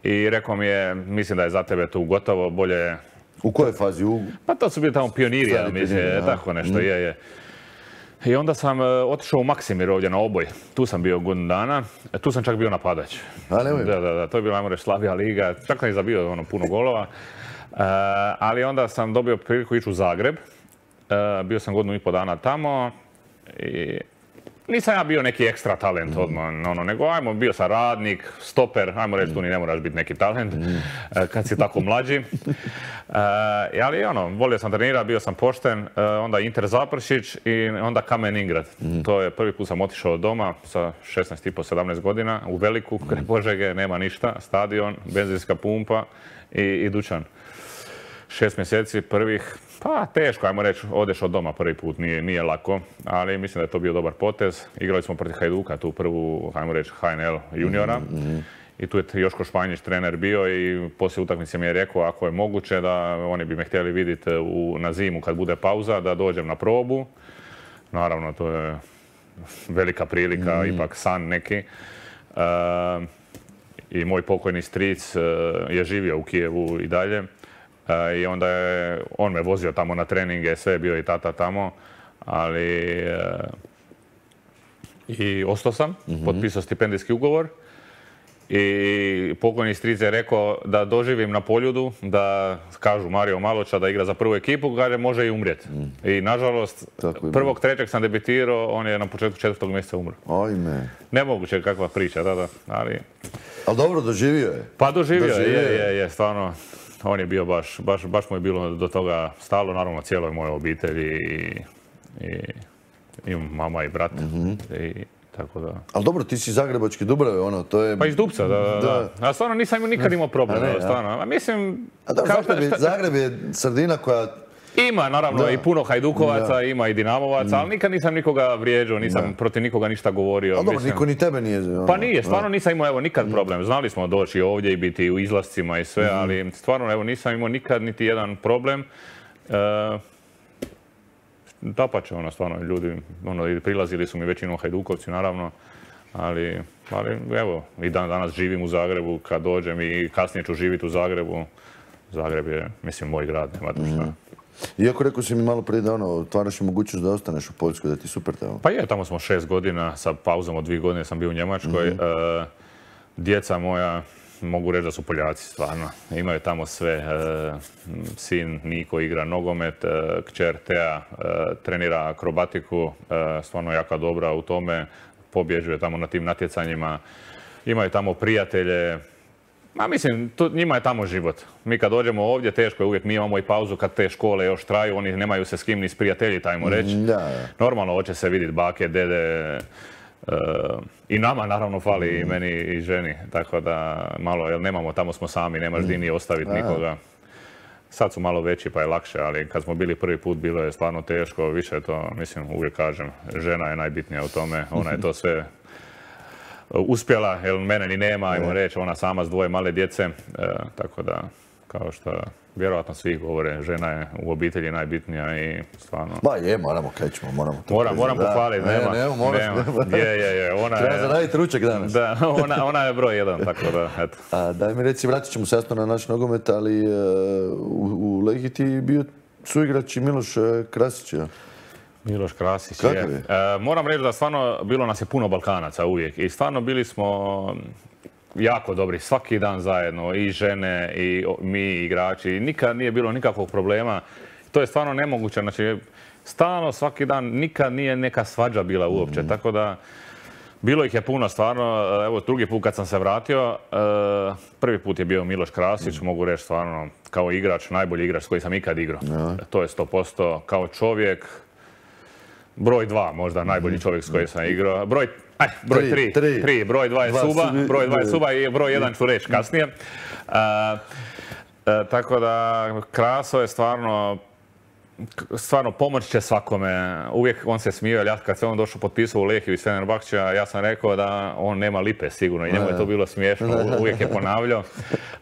i rekao mi je, mislim da je za tebe tu gotovo, bolje... U kojoj fazi? Pa to su bili tamo pioniri, ja mislim, tako nešto, je. I onda sam otišao u Maksimir ovdje na Oboj. Tu sam bio godinu dana, tu sam čak bio napadač. Da, to je bila, ajmo reći, slabija liga, čak sam i zabio puno golova. Ali onda sam dobio priliku ići u Zagreb. Bio sam godinu i pol dana tamo i nisam ja bio neki ekstra talent odmah, nego bio sam radnik, stoper, ajmo reći tu ni ne moraš biti neki talent kad si tako mlađi. Ali volio sam trenirati, bio sam pošten, onda Inter Zapršić i onda Kamen Ingrad. To je prvi put sam otišao od doma sa 16,5-17 godina u Veliku, kraj Požege, nema ništa, stadion, benzinska pumpa i dućan. 6 mjeseci prvih, pa teško, ajmo reći, odeš od doma prvi put, nije lako, ali mislim da je to bio dobar potez. Igrali smo protiv Hajduka, tu prvu, ajmo reći, HNL juniora. I tu je Joško Španjić trener bio i poslije utakmice mi je rekao ako je moguće da oni bi me htjeli vidjeti na zimu kad bude pauza, da dođem na probu. Naravno, to je velika prilika, ipak san neki. I moj pokojni stric je živio u Kijevu i dalje. I onda je on me vozio tamo na treninge, sve je bio i tata tamo, ali i ostao sam, potpisao stipendijski ugovor i pokojni stric je rekao da doživim na Poljudu, da kažu Mario Maloča da igra za prvu ekipu, kaže može i umrijeti. I nažalost, 1.3. sam debitirao, on je na početku 4. mjeseca umro. Ajme. Nemoguće kakva priča, da, ali... Ali dobro, doživio je. Pa doživio je, stvarno. On je bio baš mu je bilo do toga stalo, naravno cijeloj mojoj obitelji i mama i brat. I tako da... Ali dobro, ti si zagrebački Dubrave, to je... Pa iz Dupca, da. A stvarno nisam nikad imao problem, stvarno. A mislim... Zagreb je sredina koja... Ima, naravno, i puno Hajdukovaca, ima i Dinamovaca, ali nikad nisam nikoga vrijeđao, nisam protiv nikoga ništa govorio. Ali dobro, niko ni tebe nije... Pa nije, stvarno nisam imao nikad problem. Znali smo doći ovdje i biti u izlascima i sve, ali stvarno nisam imao nikad niti jedan problem. Dapače, stvarno, ljudi, prilazili su mi većinom Hajdukovci, naravno, ali evo, i danas živim u Zagrebu, kad dođem i kasnije ću živjeti u Zagrebu. Zagreb je, mislim, moj grad, nema tu šta. Iako rekao si mi malo prije da otvaraš i mogućnost da ostaneš u Poljskoj, da ti super tamo. Pa je, tamo smo 6 godina, sa pauzom od 2 godine sam bio u Njemačkoj. Djeca moja, mogu reći da su Poljaci, stvarno. Imaju tamo sve. Sin Niko igra nogomet, kćer Tea trenira akrobatiku, stvarno jaka dobra u tome, pobjeđuje tamo na tim natjecanjima. Imaju tamo prijatelje. Mislim, njima je tamo život. Mi kad dođemo ovdje, teško je uvijek, mi imamo i pauzu kad te škole još traju, oni nemaju se s kim ni s prijatelji, ajmo reći. Normalno, hoće se vidjeti bake, dede, i nama naravno fali i meni i ženi, tako da malo, jer nemamo, tamo smo sami, nemaš di ni ostaviti nikoga. Sad su malo veći pa je lakše, ali kad smo bili prvi put bilo je stvarno teško, više je to, mislim, uvijek kažem, žena je najbitnija u tome, ona je to sve uspjela, jer mene ni nema, ajmo reći, ona sama s dvoje male djece, tako da, kao što vjerojatno svi govore, žena je u obitelji najbitnija i stvarno... Ba je, moramo, kaj ćemo, moramo to priznati. Moram pohvaliti, nema. Je, ona je... Treba zaraditi ručak danas. Da, ona je broj jedan, tako da, eto. A daj mi reci, vratit ćemo se jasno na naš nogomet, ali u Lehiji ti bio suigrač i Miloš Krasić, ja? Miloš Krasić je. Moram reći da stvarno bilo nas je puno Balkanaca uvijek i stvarno bili smo jako dobri, svaki dan zajedno, i žene, i mi, igrači. Nikad nije bilo nikakvog problema. To je stvarno nemoguće. Znači, stalno, svaki dan, nikad nije neka svađa bila uopće. Tako da, bilo ih je puno stvarno. Evo, drugi put kad sam se vratio, prvi put je bio Miloš Krasić, mogu reći stvarno, kao igrač, najbolji igrač s koji sam ikad igrao. To je 100%. Kao čovjek, broj 2 možda, najbolji čovjek s kojim sam igrao. Broj 3. Broj 2 je Suba i broj 1 ću reći kasnije. Tako da, Kraso je stvarno pomoć će svakome. Uvijek on se smio, jer kad se on došao potpisao u Lehiju iz Fenerbahčeja, ja sam rekao da on nema lipe sigurno i njemu je to bilo smiješno. Uvijek je ponavljao.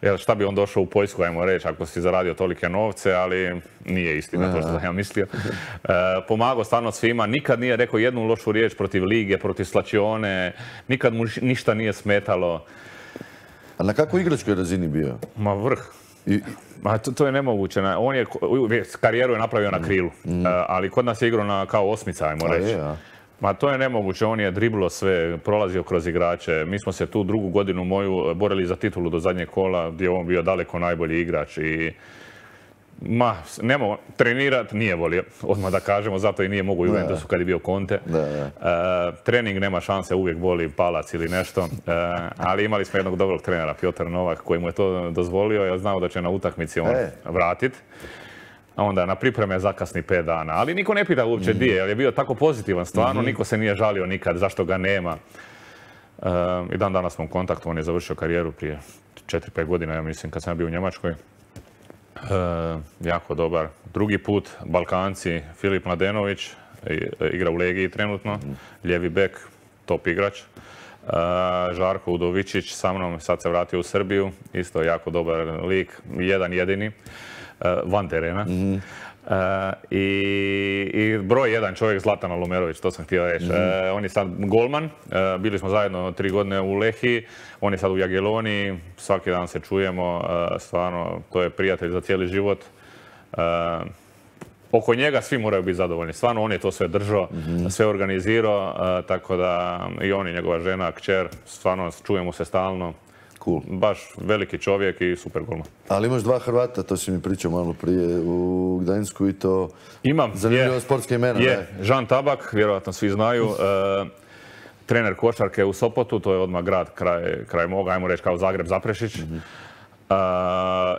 Jer šta bi on došao u Poljsku, ajmo reći, ako si zaradio tolike novce, ali nije istina to što sam ja mislio. Pomagao stvarno svima, nikad nije rekao jednu lošu riječ protiv lige, protiv Slačione, nikad mu ništa nije smetalo. A na kakvoj igračkoj razini bio? Ma vrh. To je nemoguće. On je karijeru je napravio na krilu, ali kod nas je igrao kao osmica, ajmo reći. Ma to je nemoguće, on je driblo sve, prolazio kroz igrače. Mi smo se tu drugu godinu moju borili za titulu do zadnjeg kola, gdje je on bio daleko najbolji igrač i trenirat nije volio, odmah da kažemo, zato i nije mogu u Juventusu kad je bio Conte. Trening nema šanse, uvijek voli palac ili nešto, ali imali smo jednog dobrog trenera, Piotr Novak, koji mu je to dozvolio, ja znao da će na utakmici on vratit. A onda na pripreme zakasni 5 dana, ali niko ne pita uopće di je, jer je bio tako pozitivan stvarno, niko se nije žalio nikad, zašto ga nema. I dan danas smo u kontaktu, on je završio karijeru prije 4-5 godina, ja mislim, kad sam bio u Njemačkoj. Jako dobar. Drugi put, Balkanci, Filip Mladenović, igra u Legiji trenutno, lijevi bek, top igrač. Žarko Udovičić sa mnom, sad se vratio u Srbiju, isto jako dobar lik, jedan jedini, van terena. I broj jedan čovjek, Zlatan Alumerović, to sam htio reći. On je sad golman, bili smo zajedno 3 godine u Lehiji, on je sad u Jagielloniji, svaki dan se čujemo, stvarno, to je prijatelj za cijeli život. Oko njega svi moraju biti zadovoljni, stvarno on je to sve držao, sve organizirao, tako da i on i njegova žena, kćer, stvarno čujemo se stalno. Cool. Baš veliki čovjek i super golman. Ali imaš 2 Hrvata, to si mi pričao malo prije u Gdansku i to... Imam. Zanimljivo sportske imena. Žan Tabak, vjerojatno svi znaju. Trener košarke u Sopotu, to je odmah grad kraj moga, ajmo reći kao Zagreb, Zaprešić.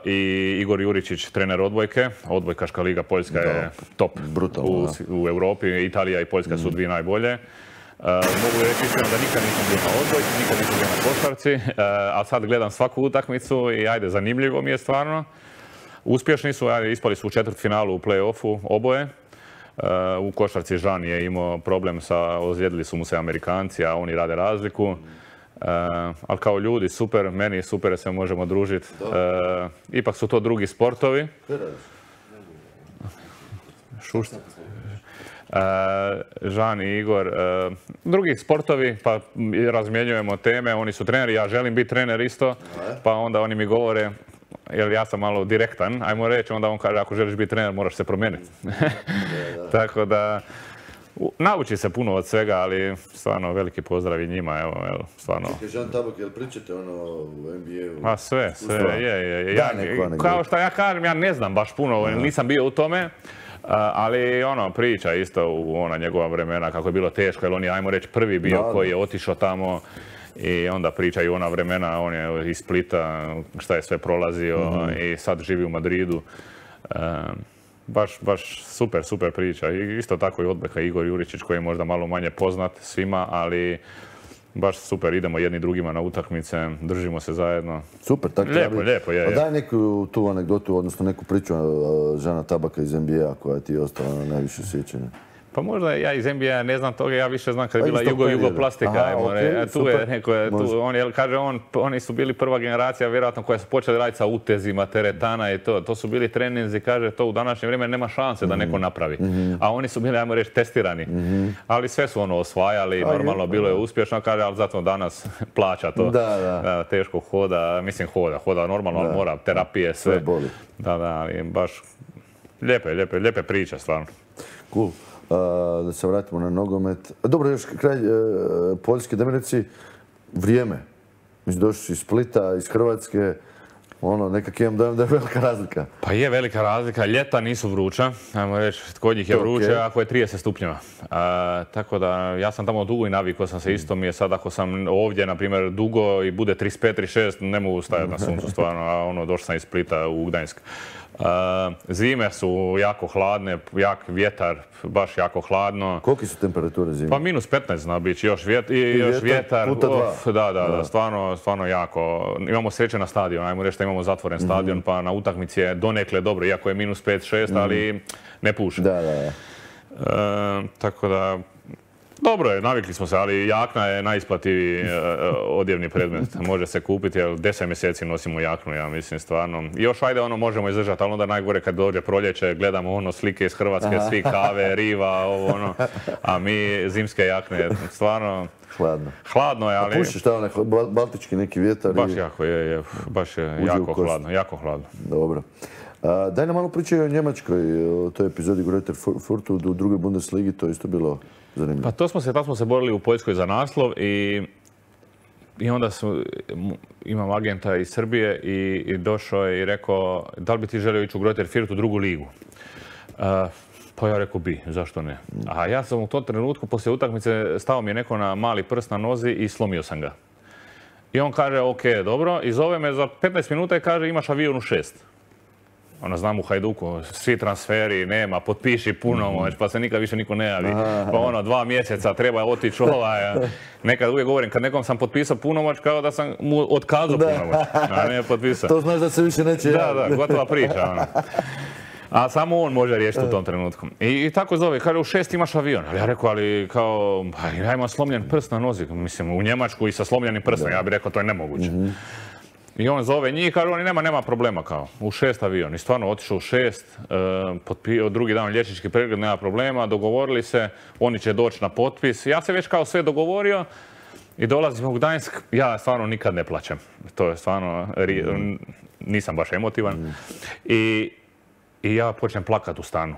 I Igor Juričić, trener odbojke. Odbojkaška liga Poljska je top u Europi. Italija i Poljska su 2 najbolje. Mogu reći iskreno da nikad nisam bio na odbojci, nikad nisam bio na košarci, a sad gledam svaku utakmicu i ajde, zanimljivo mi je stvarno. Uspješni su, ispali su u četvrtfinalu u play-offu oboje. U košarci Žan je imao problem ozlijedili su mu se Amerikanci, a oni rade razliku. Ali kao ljudi, super, meni je super da se možemo družiti. Ipak su to drugi sportovi. Šušta. Žan i Igor, drugi sportovi, pa razmjenjujemo teme, oni su treneri, ja želim biti trener isto, pa onda oni mi govore, jer ja sam malo direktan, ajmo reći, onda on kaže, ako želiš biti trener, moraš se promijeniti. Tako da, Nauči se puno od svega, ali stvarno veliki pozdrav i njima, evo, stvarno. Čekaj, Žan Tabak, jel pričate u NBA-u? Ma sve, je. Kao što ja kažem, ja ne znam baš puno, nisam bio u tome, ali priča isto u ona njegova vremena kako je bilo teško, jer on je, ajmo reći, prvi bio koji je otišao tamo i onda pričaju ona vremena, on je iz Splita, šta je sve prolazio i sad živi u Madridu. Baš super priča. I isto tako i odbeka Igor Juričić koji je možda malo manje poznat svima, ali baš super, idemo jedni drugima na utakmice, držimo se zajedno. Super, tako lijepo je. A daj neku tu anegdotu, odnosno neku priču Žana Tabaka iz NBA koja ti je ostala na najviše sjećanja. Pa možda ja iz NBA ne znam toga, ja više znam kad je bila Jugoplastika. Tu je neko, oni su bili prva generacija vjerojatno koja su počeli raditi sa utezima, teretana i to. To su bili treninzi, kaže, to u današnje vrijeme nema šanse da neko napravi. A oni su bili, ajmo reći, testirani. Ali sve su osvajali, normalno bilo je uspješno, kaže, ali zato danas plaća to. Teško hoda, mislim hoda normalno, ali mora, terapije, sve. Da, ali baš lijepe priče, stvarno. Cool. Da se vratimo na nogomet. Dobro, još kraj Poljske, da mi reci vrijeme. Mislim, došli si iz Splita, iz Hrvatske, nekak imam da je velika razlika. Pa je velika razlika, ljeta nisu vruća, ajmo reći, kod njih je vruće ako je 30 stupnjeva. Tako da, ja sam tamo dugo i navikao sam se, isto mi je sad ako sam ovdje, na primjer, dugo i bude 35-36, ne mogu stajati na suncu stvarno, a došao sam iz Splita u Gdansk. Zime su jako hladne, jak vjetar, baš jako hladno. Koliki su temperature zime? Pa -15 zna biti, još vjetar. Puta dva. Da, stvarno jako. Imamo sreće na stadion, ajmo reći da imamo zatvoren stadion, pa na utakmici je donekle dobro, iako je -5-6, ali ne puše. Tako da, dobro je, navikli smo se, ali jakna je najisplativiji odjevni predmet. Može se kupiti, jer 10 mjeseci nosimo jaknu, ja mislim, stvarno. I još ajde, možemo izdržati, ali onda najgore kad dođe proljeće, gledamo slike iz Hrvatske, svi kave, riva, a mi zimske jakne, stvarno... Hladno je, ali... A pušiš tamo baltički neki vjetar? Baš je jako hladno. Dobro. Daj nam malo pričaj o Njemačkoj, o toj epizodi Greuther Fürthu u drugoj Bundesligi, to je isto bilo zanimljivo. Pa tako smo se borili u Poljskoj za naslov i onda imam agenta iz Srbije i došao je i rekao da li bi ti želio ići u Greuther Fürth u drugu ligu. Pa ja rekao bi, zašto ne? A ja sam u tom trenutku, poslije utakmice, stao mi je neko na mali prst na nozi i slomio sam ga. I on kaže, ok, dobro, i zove me za 15 minuta i kaže, imaš avion u 6. Znam u Hajduku, svi transferi, nema, potpiši punomoć, pa se nikad više niko ne javi. Pa 2 mjeseca treba otići Nekad uvijek govorim, kad nekom sam potpisao punomoć, kao da sam mu otkazao punomoć, a ne potpisao. To znaš da se više neće javiti. Da, gotova priča. A samo on može riješiti u tom trenutku. I tako zove, kaže u 6 imaš avion. Ali ja rekao, ali kao, ja imam slomljen prst na nozi. Mislim, u Njemačku i sa slomljenim prstom, ja bih rekao, to je nemoguće. I on zove njih, kaže oni nema problema kao, u 6 avion. I stvarno otišao u 6, drugi dan liječnički pregled, nema problema, dogovorili se, oni će doći na potpis. Ja se već kao sve dogovorio i dolazim u Gdansk, ja stvarno nikad ne plaćem. To je stvarno, nisam baš emotivan. I ja počnem plakat u stanu.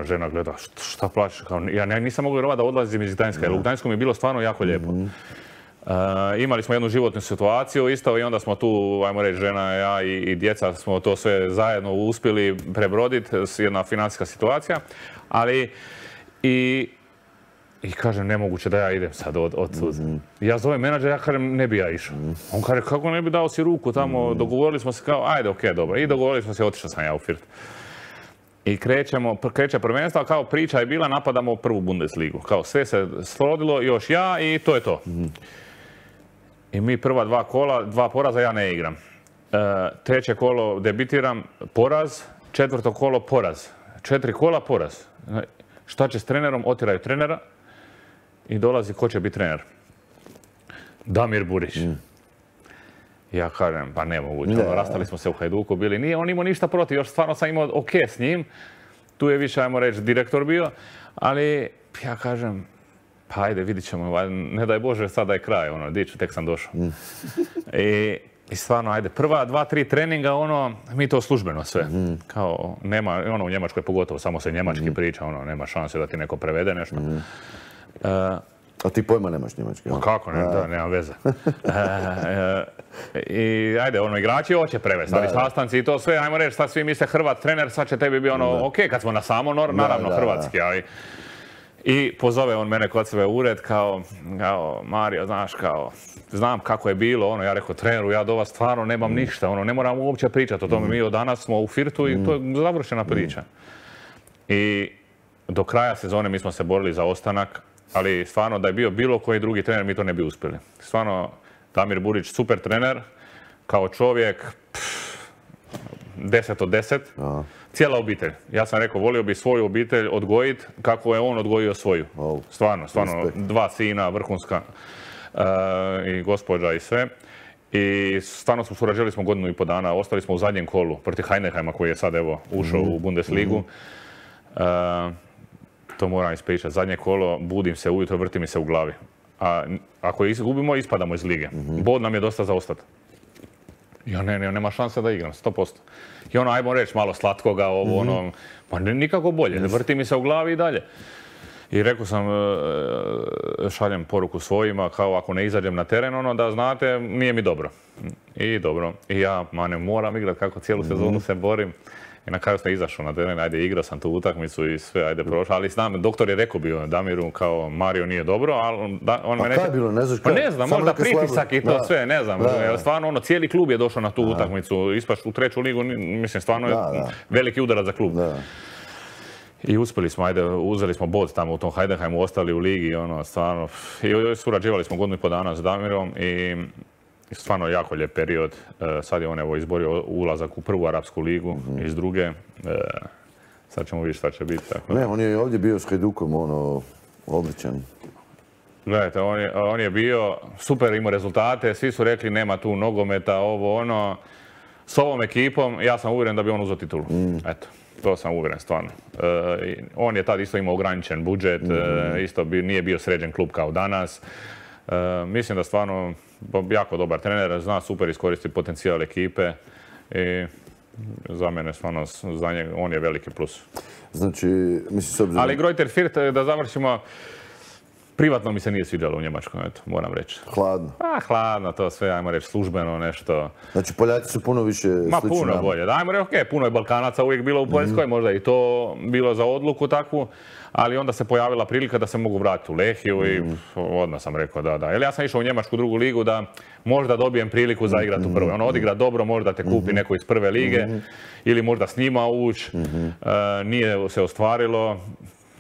Žena gleda, šta plaćeš? Ja nisam mogu vjerovati da odlazim iz Gdanjska, jer u Gdanjsku mi je bilo stvarno jako lijepo. Imali smo jednu životnu situaciju isto i onda smo tu, ajmo reći, žena, ja i djeca smo to sve zajedno uspjeli prebroditi, jedna financijska situacija, ali i kažem, nemoguće da ja idem sad odsud. Ja zovem menadžer, ja kažem, ne bi ja išao. On kaže, kako ne bi dao si ruku tamo, dogovorili smo se kao, ajde, okej, dobro. I dogovorili smo se, otišao sam ja u Fürth. I kreće prvenstvo, a kao priča je bila, napadamo prvu Bundesligu. Kao sve se srodilo, još ja i to je to. I mi prva 2 kola, 2 poraza, ja ne igram. 3. kolo debitiram, poraz, 4. kolo poraz. 4 kola poraz. Šta će s trenerom? Otjeraju trenera i dolazi ko će biti trener. Damir Burić. Ja kažem, pa nemoguće, rastali smo se u Hajduku, bili, nije on imao ništa protiv, još stvarno sam imao ok s njim, tu je više, ajmo reći, direktor bio, ali ja kažem, pa ajde, vidit ćemo, ne daj Bože, sada je kraj, diću, tek sam došao. I stvarno, ajde, prva 2-3 treninga, mi to službeno sve. Kao, nema, u Njemačkoj pogotovo, samo se njemački priča, nema šanse da ti neko prevede nešto. A ti pojma nemaš njemački? Kako ne, da, nema veze. I ajde, igrači hoće prevesti, ali sastanci i to sve, ajmo reći, sad svi misle Hrvat trener, sad će tebi biti ok, kad smo na samo, naravno hrvatski, ali... I pozove on mene kod sebe u ured kao Mario, znaš, znam kako je bilo, ja rekao treneru, ja do vas stvarno nemam ništa, ne moram uopće pričati o tome, mi od danas smo u Firtu i to je završena priča. I do kraja sezone mi smo se borili za ostanak, ali stvarno da je bio bilo koji drugi trener mi to ne bi uspjeli. Stvarno, Damir Burić, super trener, kao čovjek, 10 od 10. Cijela obitelj. Ja sam rekao, volio bi svoju obitelj odgojiti kako je on odgojio svoju. Stvarno, 2 sina, vrhunska i gospođa i sve. I stvarno surađivali smo 1,5 godinu dana, ostali smo u zadnjem kolu protiv Heidenheima koji je sad evo ušao u Bundesligu. To moram ispričati. Zadnje kolo, budim se ujutro, vrti mi se u glavi. A ako izgubimo, ispadamo iz lige. Bod nam je dosta za ostati. Ja nema šanse da igram, 100%. I ajmo reći, malo slatkoga, pa nikako bolje, vrti mi se u glavi i dalje. I rekao sam, šaljem poruku svojima, kao ako ne izađem na teren, da znate, nije mi dobro. I dobro. I ja, ne moram igrati kako cijelu sezonu se borim. I na kraju sam izašao na teren, ajde, igrao sam tu utakmicu i sve, ajde, prošao. Ali znam, doktor je rekao bio Damiru, kao Mario nije dobro, ali on me neće... A kaj je bilo, ne znaš kaj? Pa ne znam, možda pritisak i to sve, ne znam. Stvarno, cijeli klub je došao na tu utakmicu, ispaš u 3. ligu, mislim, stvarno je veliki udarac za klub. I uspjeli smo, ajde, uzeli smo bod tamo u tom Heidenheimu, ostali u ligi, stvarno. I surađivali smo 1,5 godinu dana s Damirom i stvarno jako lijep period. Sad je on evo izborio ulazak u 1. arapsku ligu iz 2. Sad ćemo vidjeti šta će biti. Ne, on je ovdje bio s Hajdukom, odličan. Gledajte, on je bio super, imao rezultate, svi su rekli nema tu nogometa, S ovom ekipom ja sam uvjeren da bi on uzeo titulu. Eto, to sam uvjeren stvarno. On je tad isto imao ograničen budžet, isto nije bio sređen klub kao danas. Mislim da stvarno jako dobar trener, zna super iskoristiti potencijal ekipe i za mene stvarno, za njega, on je veliki plus. Znači, mislim s obzirom... Ali Greuther Fürth, da završimo, privatno mi se nije sviđalo u Njemačkoj, eto, moram reći. Hladno? Hladno, to sve, ajmo reći, službeno nešto. Znači, Poljaci su puno više slični nama? Puno bolje. Ajmo reći, okej, puno je Balkanaca uvijek bilo u Poljskoj, možda i to bilo za odluku takvu, ali onda se pojavila prilika da se mogu vratiti u Lehiju i odmah sam rekao da. Jer ja sam išao u Njemačku 2. ligu da možda dobijem priliku za igrati u 1. Odigra dobro, možda te kupi neko iz 1. lige ili možda s njima ući. Nije se ostvarilo.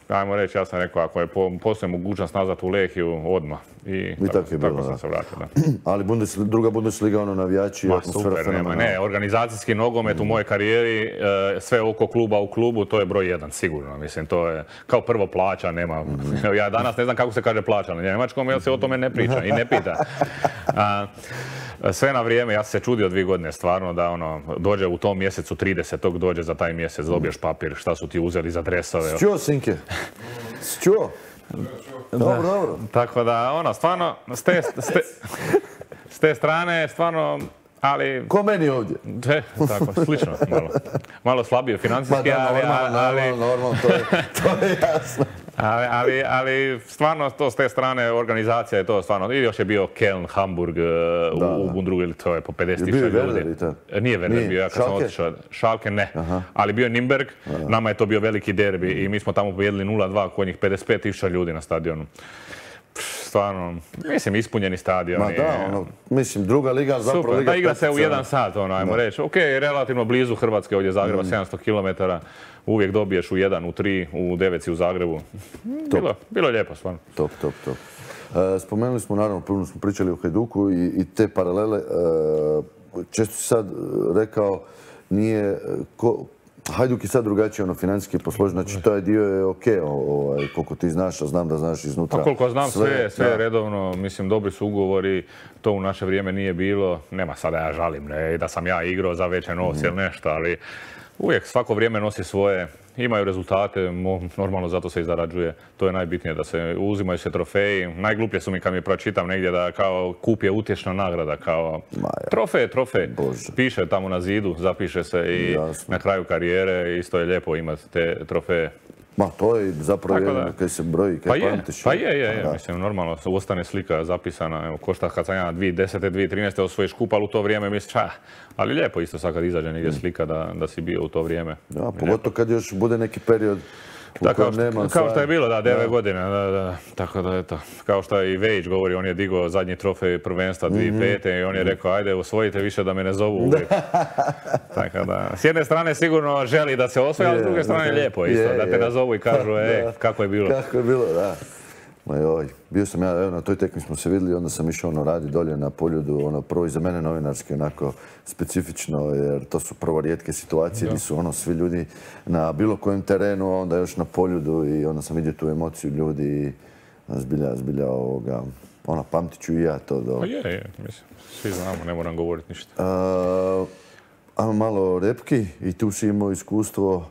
Ajmo reći, ja sam rekao, ako je postoji mogućnost nazad u Lehiju, odmah. I tako sam se vratio, da. Ali druga Bundesliga, navijači, atmosfera fenomenalna. Ne, organizacijski nogomet u mojoj karijeri, sve oko kluba u klubu, to je broj 1, sigurno. Mislim, to je kao prvo plaća, nema... Ja danas ne znam kako se kaže plaća na njemačkom, jer se o tome ne priča i ne pita. Sve na vrijeme, ja sam se čudio 2 godine stvarno da dođe u tom mjesecu 30. dođe za taj mjesec, dobiješ papir, šta su ti uzeli za dresove. Čuo, Sinke? Čuo? Dobro. Tako da, stvarno, s te strane, stvarno, ali... Ko meni ovdje? Tako, slično, malo slabije financijski, ali... Normalno, to je jasno. Ali stvarno to s te strane organizacija je to stvarno, i još je bio Köln, Hamburg u Bundesliga, to je po 50.000 ljudi. Nije Werder bio, ja kad sam otišao, Schalke ne, ali bio je Nürnberg, nama je to bio veliki derbi i mi smo tamo pobijedili 0-2 kod njih 55.000 ljudi na stadionu. Stvarno, mislim, ispunjeni stadion. Ma da, mislim, druga liga, zapravo liga... Super, da igra se u 1 sat, ajmo reći. Okej, relativno blizu Hrvatske, ovdje Zagreba, 700 km. Uvijek dobiješ u 1, u 3, u 9 si u Zagrebu. Bilo lijepo, stvarno. Top. Spomenuli smo, naravno, prvo smo pričali o Hajduku i te paralele. Često si sad rekao, nije... Hajduk je sad drugačije financijski posložen, znači taj dio je okej, koliko ti znaš, a znam da znaš iznutra. Pa koliko znam sve je redovno, mislim, dobri su ugovori, to u naše vrijeme nije bilo, nema sada ja žalim, ne, da sam ja igrao za veće novce ili nešto, ali uvijek svako vrijeme nosi svoje, imaju rezultate, normalno zato se i zarađuje. To je najbitnije, da se uzimaju se trofeji. Najgluplje su mi kad mi pročitam negdje da kao kup je utješna nagrada, kao trofej. Piše tamo na zidu, zapiše se i na kraju karijere isto je lijepo imati te trofeje. Ma, to je zapravo jedno kaj se broji, kaj pamtiš. Pa je, mislim, normalno, ostane slika zapisana, evo, ko šta kad sam ja 2010. 2013. osvojiš kup, ali u to vrijeme misliš, ali lijepo isto sad kad izađe negdje slika da si bio u to vrijeme. Ja, pogotovo kad još bude neki period u kojem nema... Kao što je bilo, 9 godina, tako da eto, kao što i Vejić govori, on je digao zadnji trofej prvenstva 2005. I on je rekao, ajde, osvojite više da me ne zovu uvijek. Tako da, s jedne strane sigurno želi da se osvoji, ali s druge strane lijepo isto, da te nazovu i kažu, kako je bilo. Kako je bilo, da. Ma joj, bio sam ja, evo na toj tekmi smo se vidjeli, onda sam išao radi dolje na Poljudu, prvo i za mene novinarski onako specifično, jer to su prvo rijetke situacije gdje su svi ljudi na bilo kojem terenu, onda još na Poljudu i onda sam vidio tu emociju ljudi i zbilja pamtit ću i ja to. Pa je, mislim, svi znamo, ne moram govoriti ništa. Ajmo malo o repki i tu si imao iskustvo.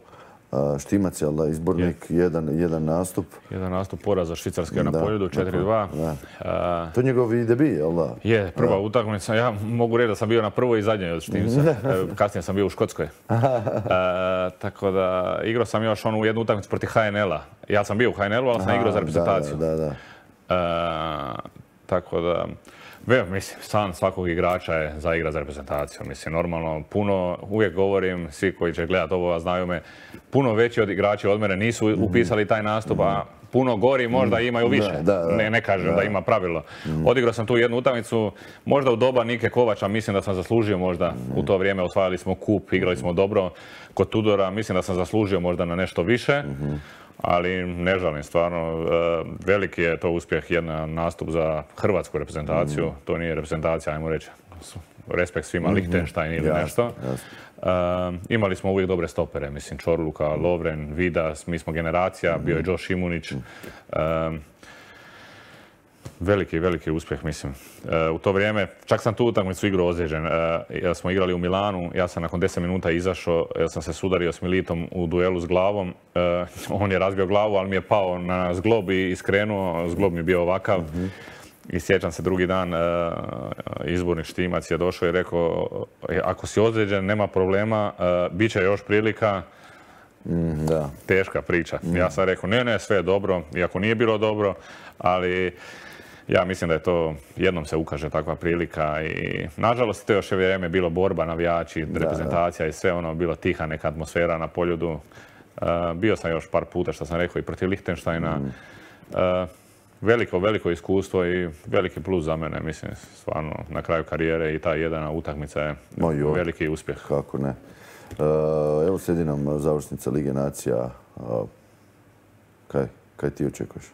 Štimac je, ali izbornik, jedan nastup. Jedan nastup poraza Švicarske na Poljudu, 4-2. To je njegov i debi, jel da? Je, prva utakmica. Ja mogu reći da sam bio na prvoj i zadnjoj od Štimca. Kasnije sam bio u Škotskoj. Tako da igrao sam još onu jednu utakmicu protiv HNL-a. Ja sam bio u HNL-u, ali sam igrao za reprezentaciju. Tako da... Mislim, san svakog igrača je za igra za reprezentaciju. Mislim, normalno, puno, uvijek govorim, svi koji će gledati ovo, znaju me, puno veći od igrača od mene nisu upisali taj nastup, a puno gori možda imaju više. Ne kažem da ima pravilo. Odigrao sam tu jednu utakmicu, možda u doba Nike Kovača, mislim da sam zaslužio možda. U to vrijeme osvajali smo kup, igrali smo dobro. Kod Tudora mislim da sam zaslužio možda na nešto više. Ali ne žalim, stvarno, veliki je to uspjeh, jedan nastup za hrvatsku reprezentaciju. To nije reprezentacija, ajmo reći, respekt svima, Lichtenstein ili nešto. Imali smo uvijek dobre stopere, mislim, Čorluka, Lovren, Vidas, mi smo generacija, bio je Josh Šimunić. Veliki uspjeh, mislim. U to vrijeme, čak sam tu utakmicu igrao ozlijeđen. Ja smo igrali u Milanu, ja sam nakon 10 minuta izašao, ja sam se sudario s Militom u duelu s glavom. On je razbio glavu, ali mi je pao na zglob i skrenuo. Zglob mi je bio ovakav. I sjećam se drugi dan, izbornik Štimac je došao i rekao, ako si ozlijeđen, nema problema, bit će još prilika. Teška priča. Ja sam rekao, ne, sve je dobro, iako nije bilo dobro, ali ja mislim da je to, jednom se ukaže takva prilika i nažalost to još je vrijeme bilo borba, navijači, reprezentacija i sve bilo tiha neka atmosfera na Poljudu. Bio sam još par puta, što sam rekao, i protiv Lichtensteina. Veliko iskustvo i veliki plus za mene, mislim, stvarno, na kraju karijere i ta jedna utakmica je veliki uspjeh. Kako ne. Evo slijedi nam završnica Lige nacija. Kaj ti očekuješ?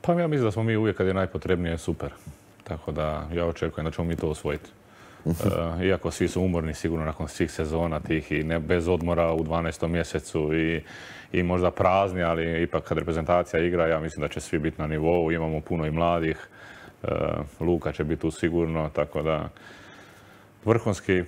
Pa ja mislim da smo mi uvijek kad je najpotrebnije super. Tako da ja očekujem da ćemo mi to osvojiti. Iako svi su umorni sigurno nakon svih sezona tih i bez odmora u 12. mjesecu i možda prazni, ali ipak kad reprezentacija igra, ja mislim da će svi biti na nivou. Imamo puno i mladih. Luka će biti tu sigurno, tako da vrhunski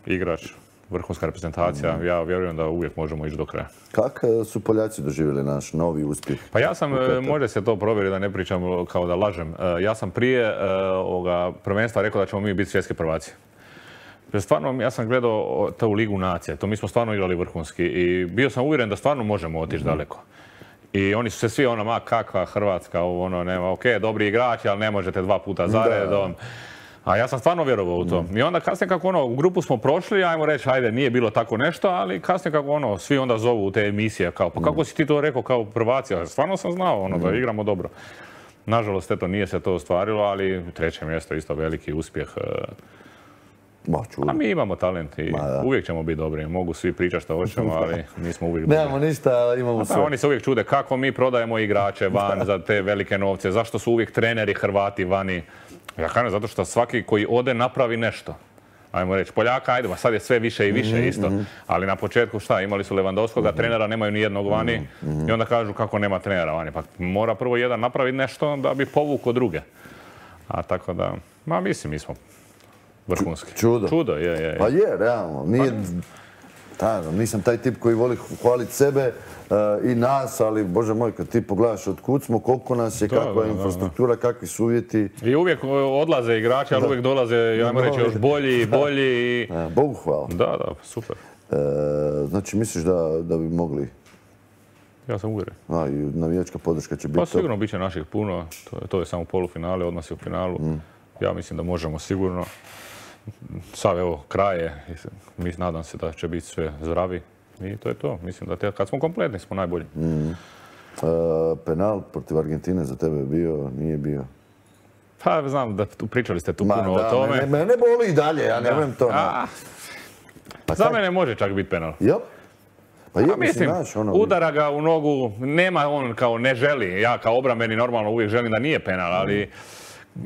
igrač, vrhunska reprezentacija, ja vjerujem da uvijek možemo ići do kraja. Kako su Poljaci doživjeli naš novi uspjeh? Pa ja sam, može se to provjeriti da ne pričam kao da lažem, ja sam prije prvenstva rekao da ćemo mi biti svjetski prvaci. Stvarno, ja sam gledao tu Ligu nacije, to mi smo stvarno igrali vrhunski i bio sam uvjeren da stvarno možemo otići daleko. I oni su se svi kakva Hrvatska, nema, okej, dobri igrači, ali ne možete 2 puta zaredom. A ja sam stvarno vjerovao u to. I onda kasnije kako u grupu smo prošli, ajmo reći, ajde, nije bilo tako nešto, ali kasnije kako svi onda zovu u te emisije, kao, pa kako si ti to rekao kao prvaci? Stvarno sam znao da igramo dobro. Nažalost, eto, nije se to ostvarilo, ali 3. mjesto isto veliki uspjeh. A mi imamo talent i uvijek ćemo biti dobri. Mogu svi pričati što hoćemo, ali mi smo uvijek dobri. Nemamo ništa, ali imamo sve. Oni se uvijek čude kako mi prodajemo igrače van za te velike novce, zašto su uvijek treneri Hrvati vani. Ja kažem, zato što svaki koji ode napravi nešto. Ajmo reći, Poljaka, ajde, sad je sve više i više isto. Ali na početku šta, imali su Lewandowskoga, trenera nemaju ni jednog vani i onda kažu kako nema trenera vani. Pa mora prvo jedan napraviti nešto da bi povukao druge. A tako da, mislim, mi smo vrhunski. Čudo. Čudo, je. Pa je, realno. Nisam taj tip koji voli hvaliti sebe i nas, ali bože moj, kad ti pogledaš od kud smo, koliko nas je, kakva je infrastruktura, kakvi su uvjeti. I uvijek odlaze igrači, ali uvijek dolaze, ajmo reći, još bolji. Bogu hvala. Da, super. Znači, misliš da bi mogli? Ja sam uvjeren. I navijačka podrška će biti Pa sigurno bit će naših puno, to je samo polufinale, odmah si u finalu. Ja mislim da možemo sigurno. Sad evo, kraj je, nadam se da će biti sve zdravi i to je to. Mislim da kad smo kompletni smo najbolji. Penal protiv Argentine za tebe je bio, nije bio? Pa znam da pričali ste tu puno o tome. Mene boli i dalje, ja ne volim to. Za mene može čak biti penal. Jel? Pa mislim, udara ga u nogu, nema on kao ne želi. Ja kao obrambeni normalno uvijek želim da nije penal, ali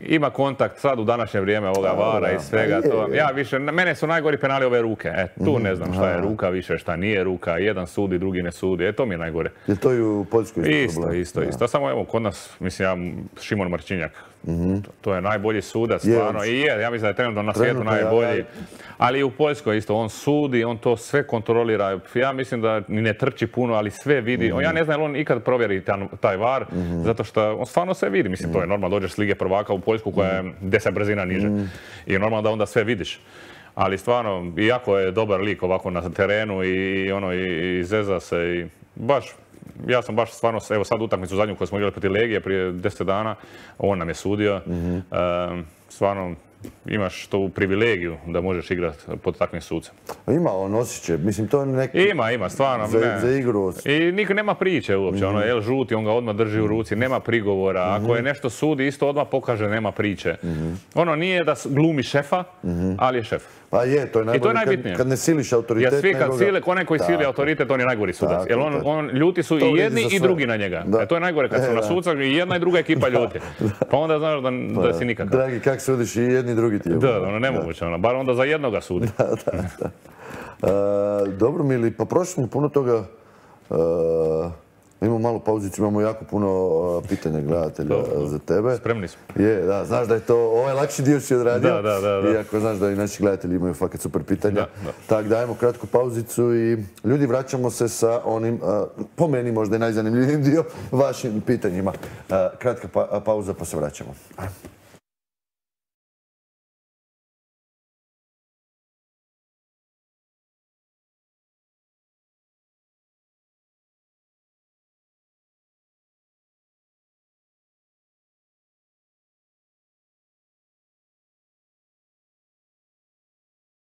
ima kontakt sad u današnje vrijeme ovoga vara i svega. Ja više, mene su najgori penali ove ruke. Tu ne znam šta je ruka više, šta nije ruka. Jedan sudi, drugi ne sudi. To mi je najgore. Je to i u Poljskoj isto? Isto. Samo evo kod nas, mislim, Šimon Marčinjak. To je najbolji sudac, stvarno. I ja mislim da je trenutno na svijetu najbolji. Ali i u Poljskoj isto, on sudi, on to sve kontrolira. Ja mislim da ni ne trči puno, ali sve vidi. Ja ne znam je li on ikad provjeri taj var, zato što on stvarno sve vidi. Mislim, to je normalno, dođeš s Lige prvaka u Poljsku koja je 10 brzina niže. I je normalno da onda sve vidiš. Ali stvarno, iako je dobar lik ovako na terenu i zeza se i baš, ja sam baš stvarno, evo sad utakmicu zadnju koju smo igrali protiv Legije prije 10 dana, on nam je sudio. Stvarno, imaš tu privilegiju da možeš igrati pod takvim sucem. Ima on osjećaj, mislim to je neki... Ima, stvarno. Za igru. I niko nema priče uopće, El žuti, on ga odmah drži u ruci, nema prigovora. Ako je nešto sudi, isto odmah pokaže, nema priče. Ono nije da glumi šefa, ali je šef. Pa je, to je najbolje kad ne siliš autoritet. Jer svi kad sile, onaj koji sili autoritet, on je najgori sudac. Jer ljuti su i jedni i drugi na njega. To je najgore kad su na suca i jedna i druga ekipa ljuti. Pa onda znaš da si nikakav. Dragi, kak sudiš i jedni i drugi ti je. Da, nemoguće, bar onda za jednoga sudi. Dobro, Mili, pa prošli smo puno toga. Imamo malu pauzicu, imamo jako puno pitanja gledatelja za tebe. Spremni smo. Da, znaš da je to, ovaj lakši dio si odradio. Da. Iako znaš da i naši gledatelji imaju fakat super pitanja. Tako dajemo kratku pauzicu i ljudi vraćamo se sa onim, po meni možda i najzanimljivijim dio, vašim pitanjima. Kratka pauza pa se vraćamo.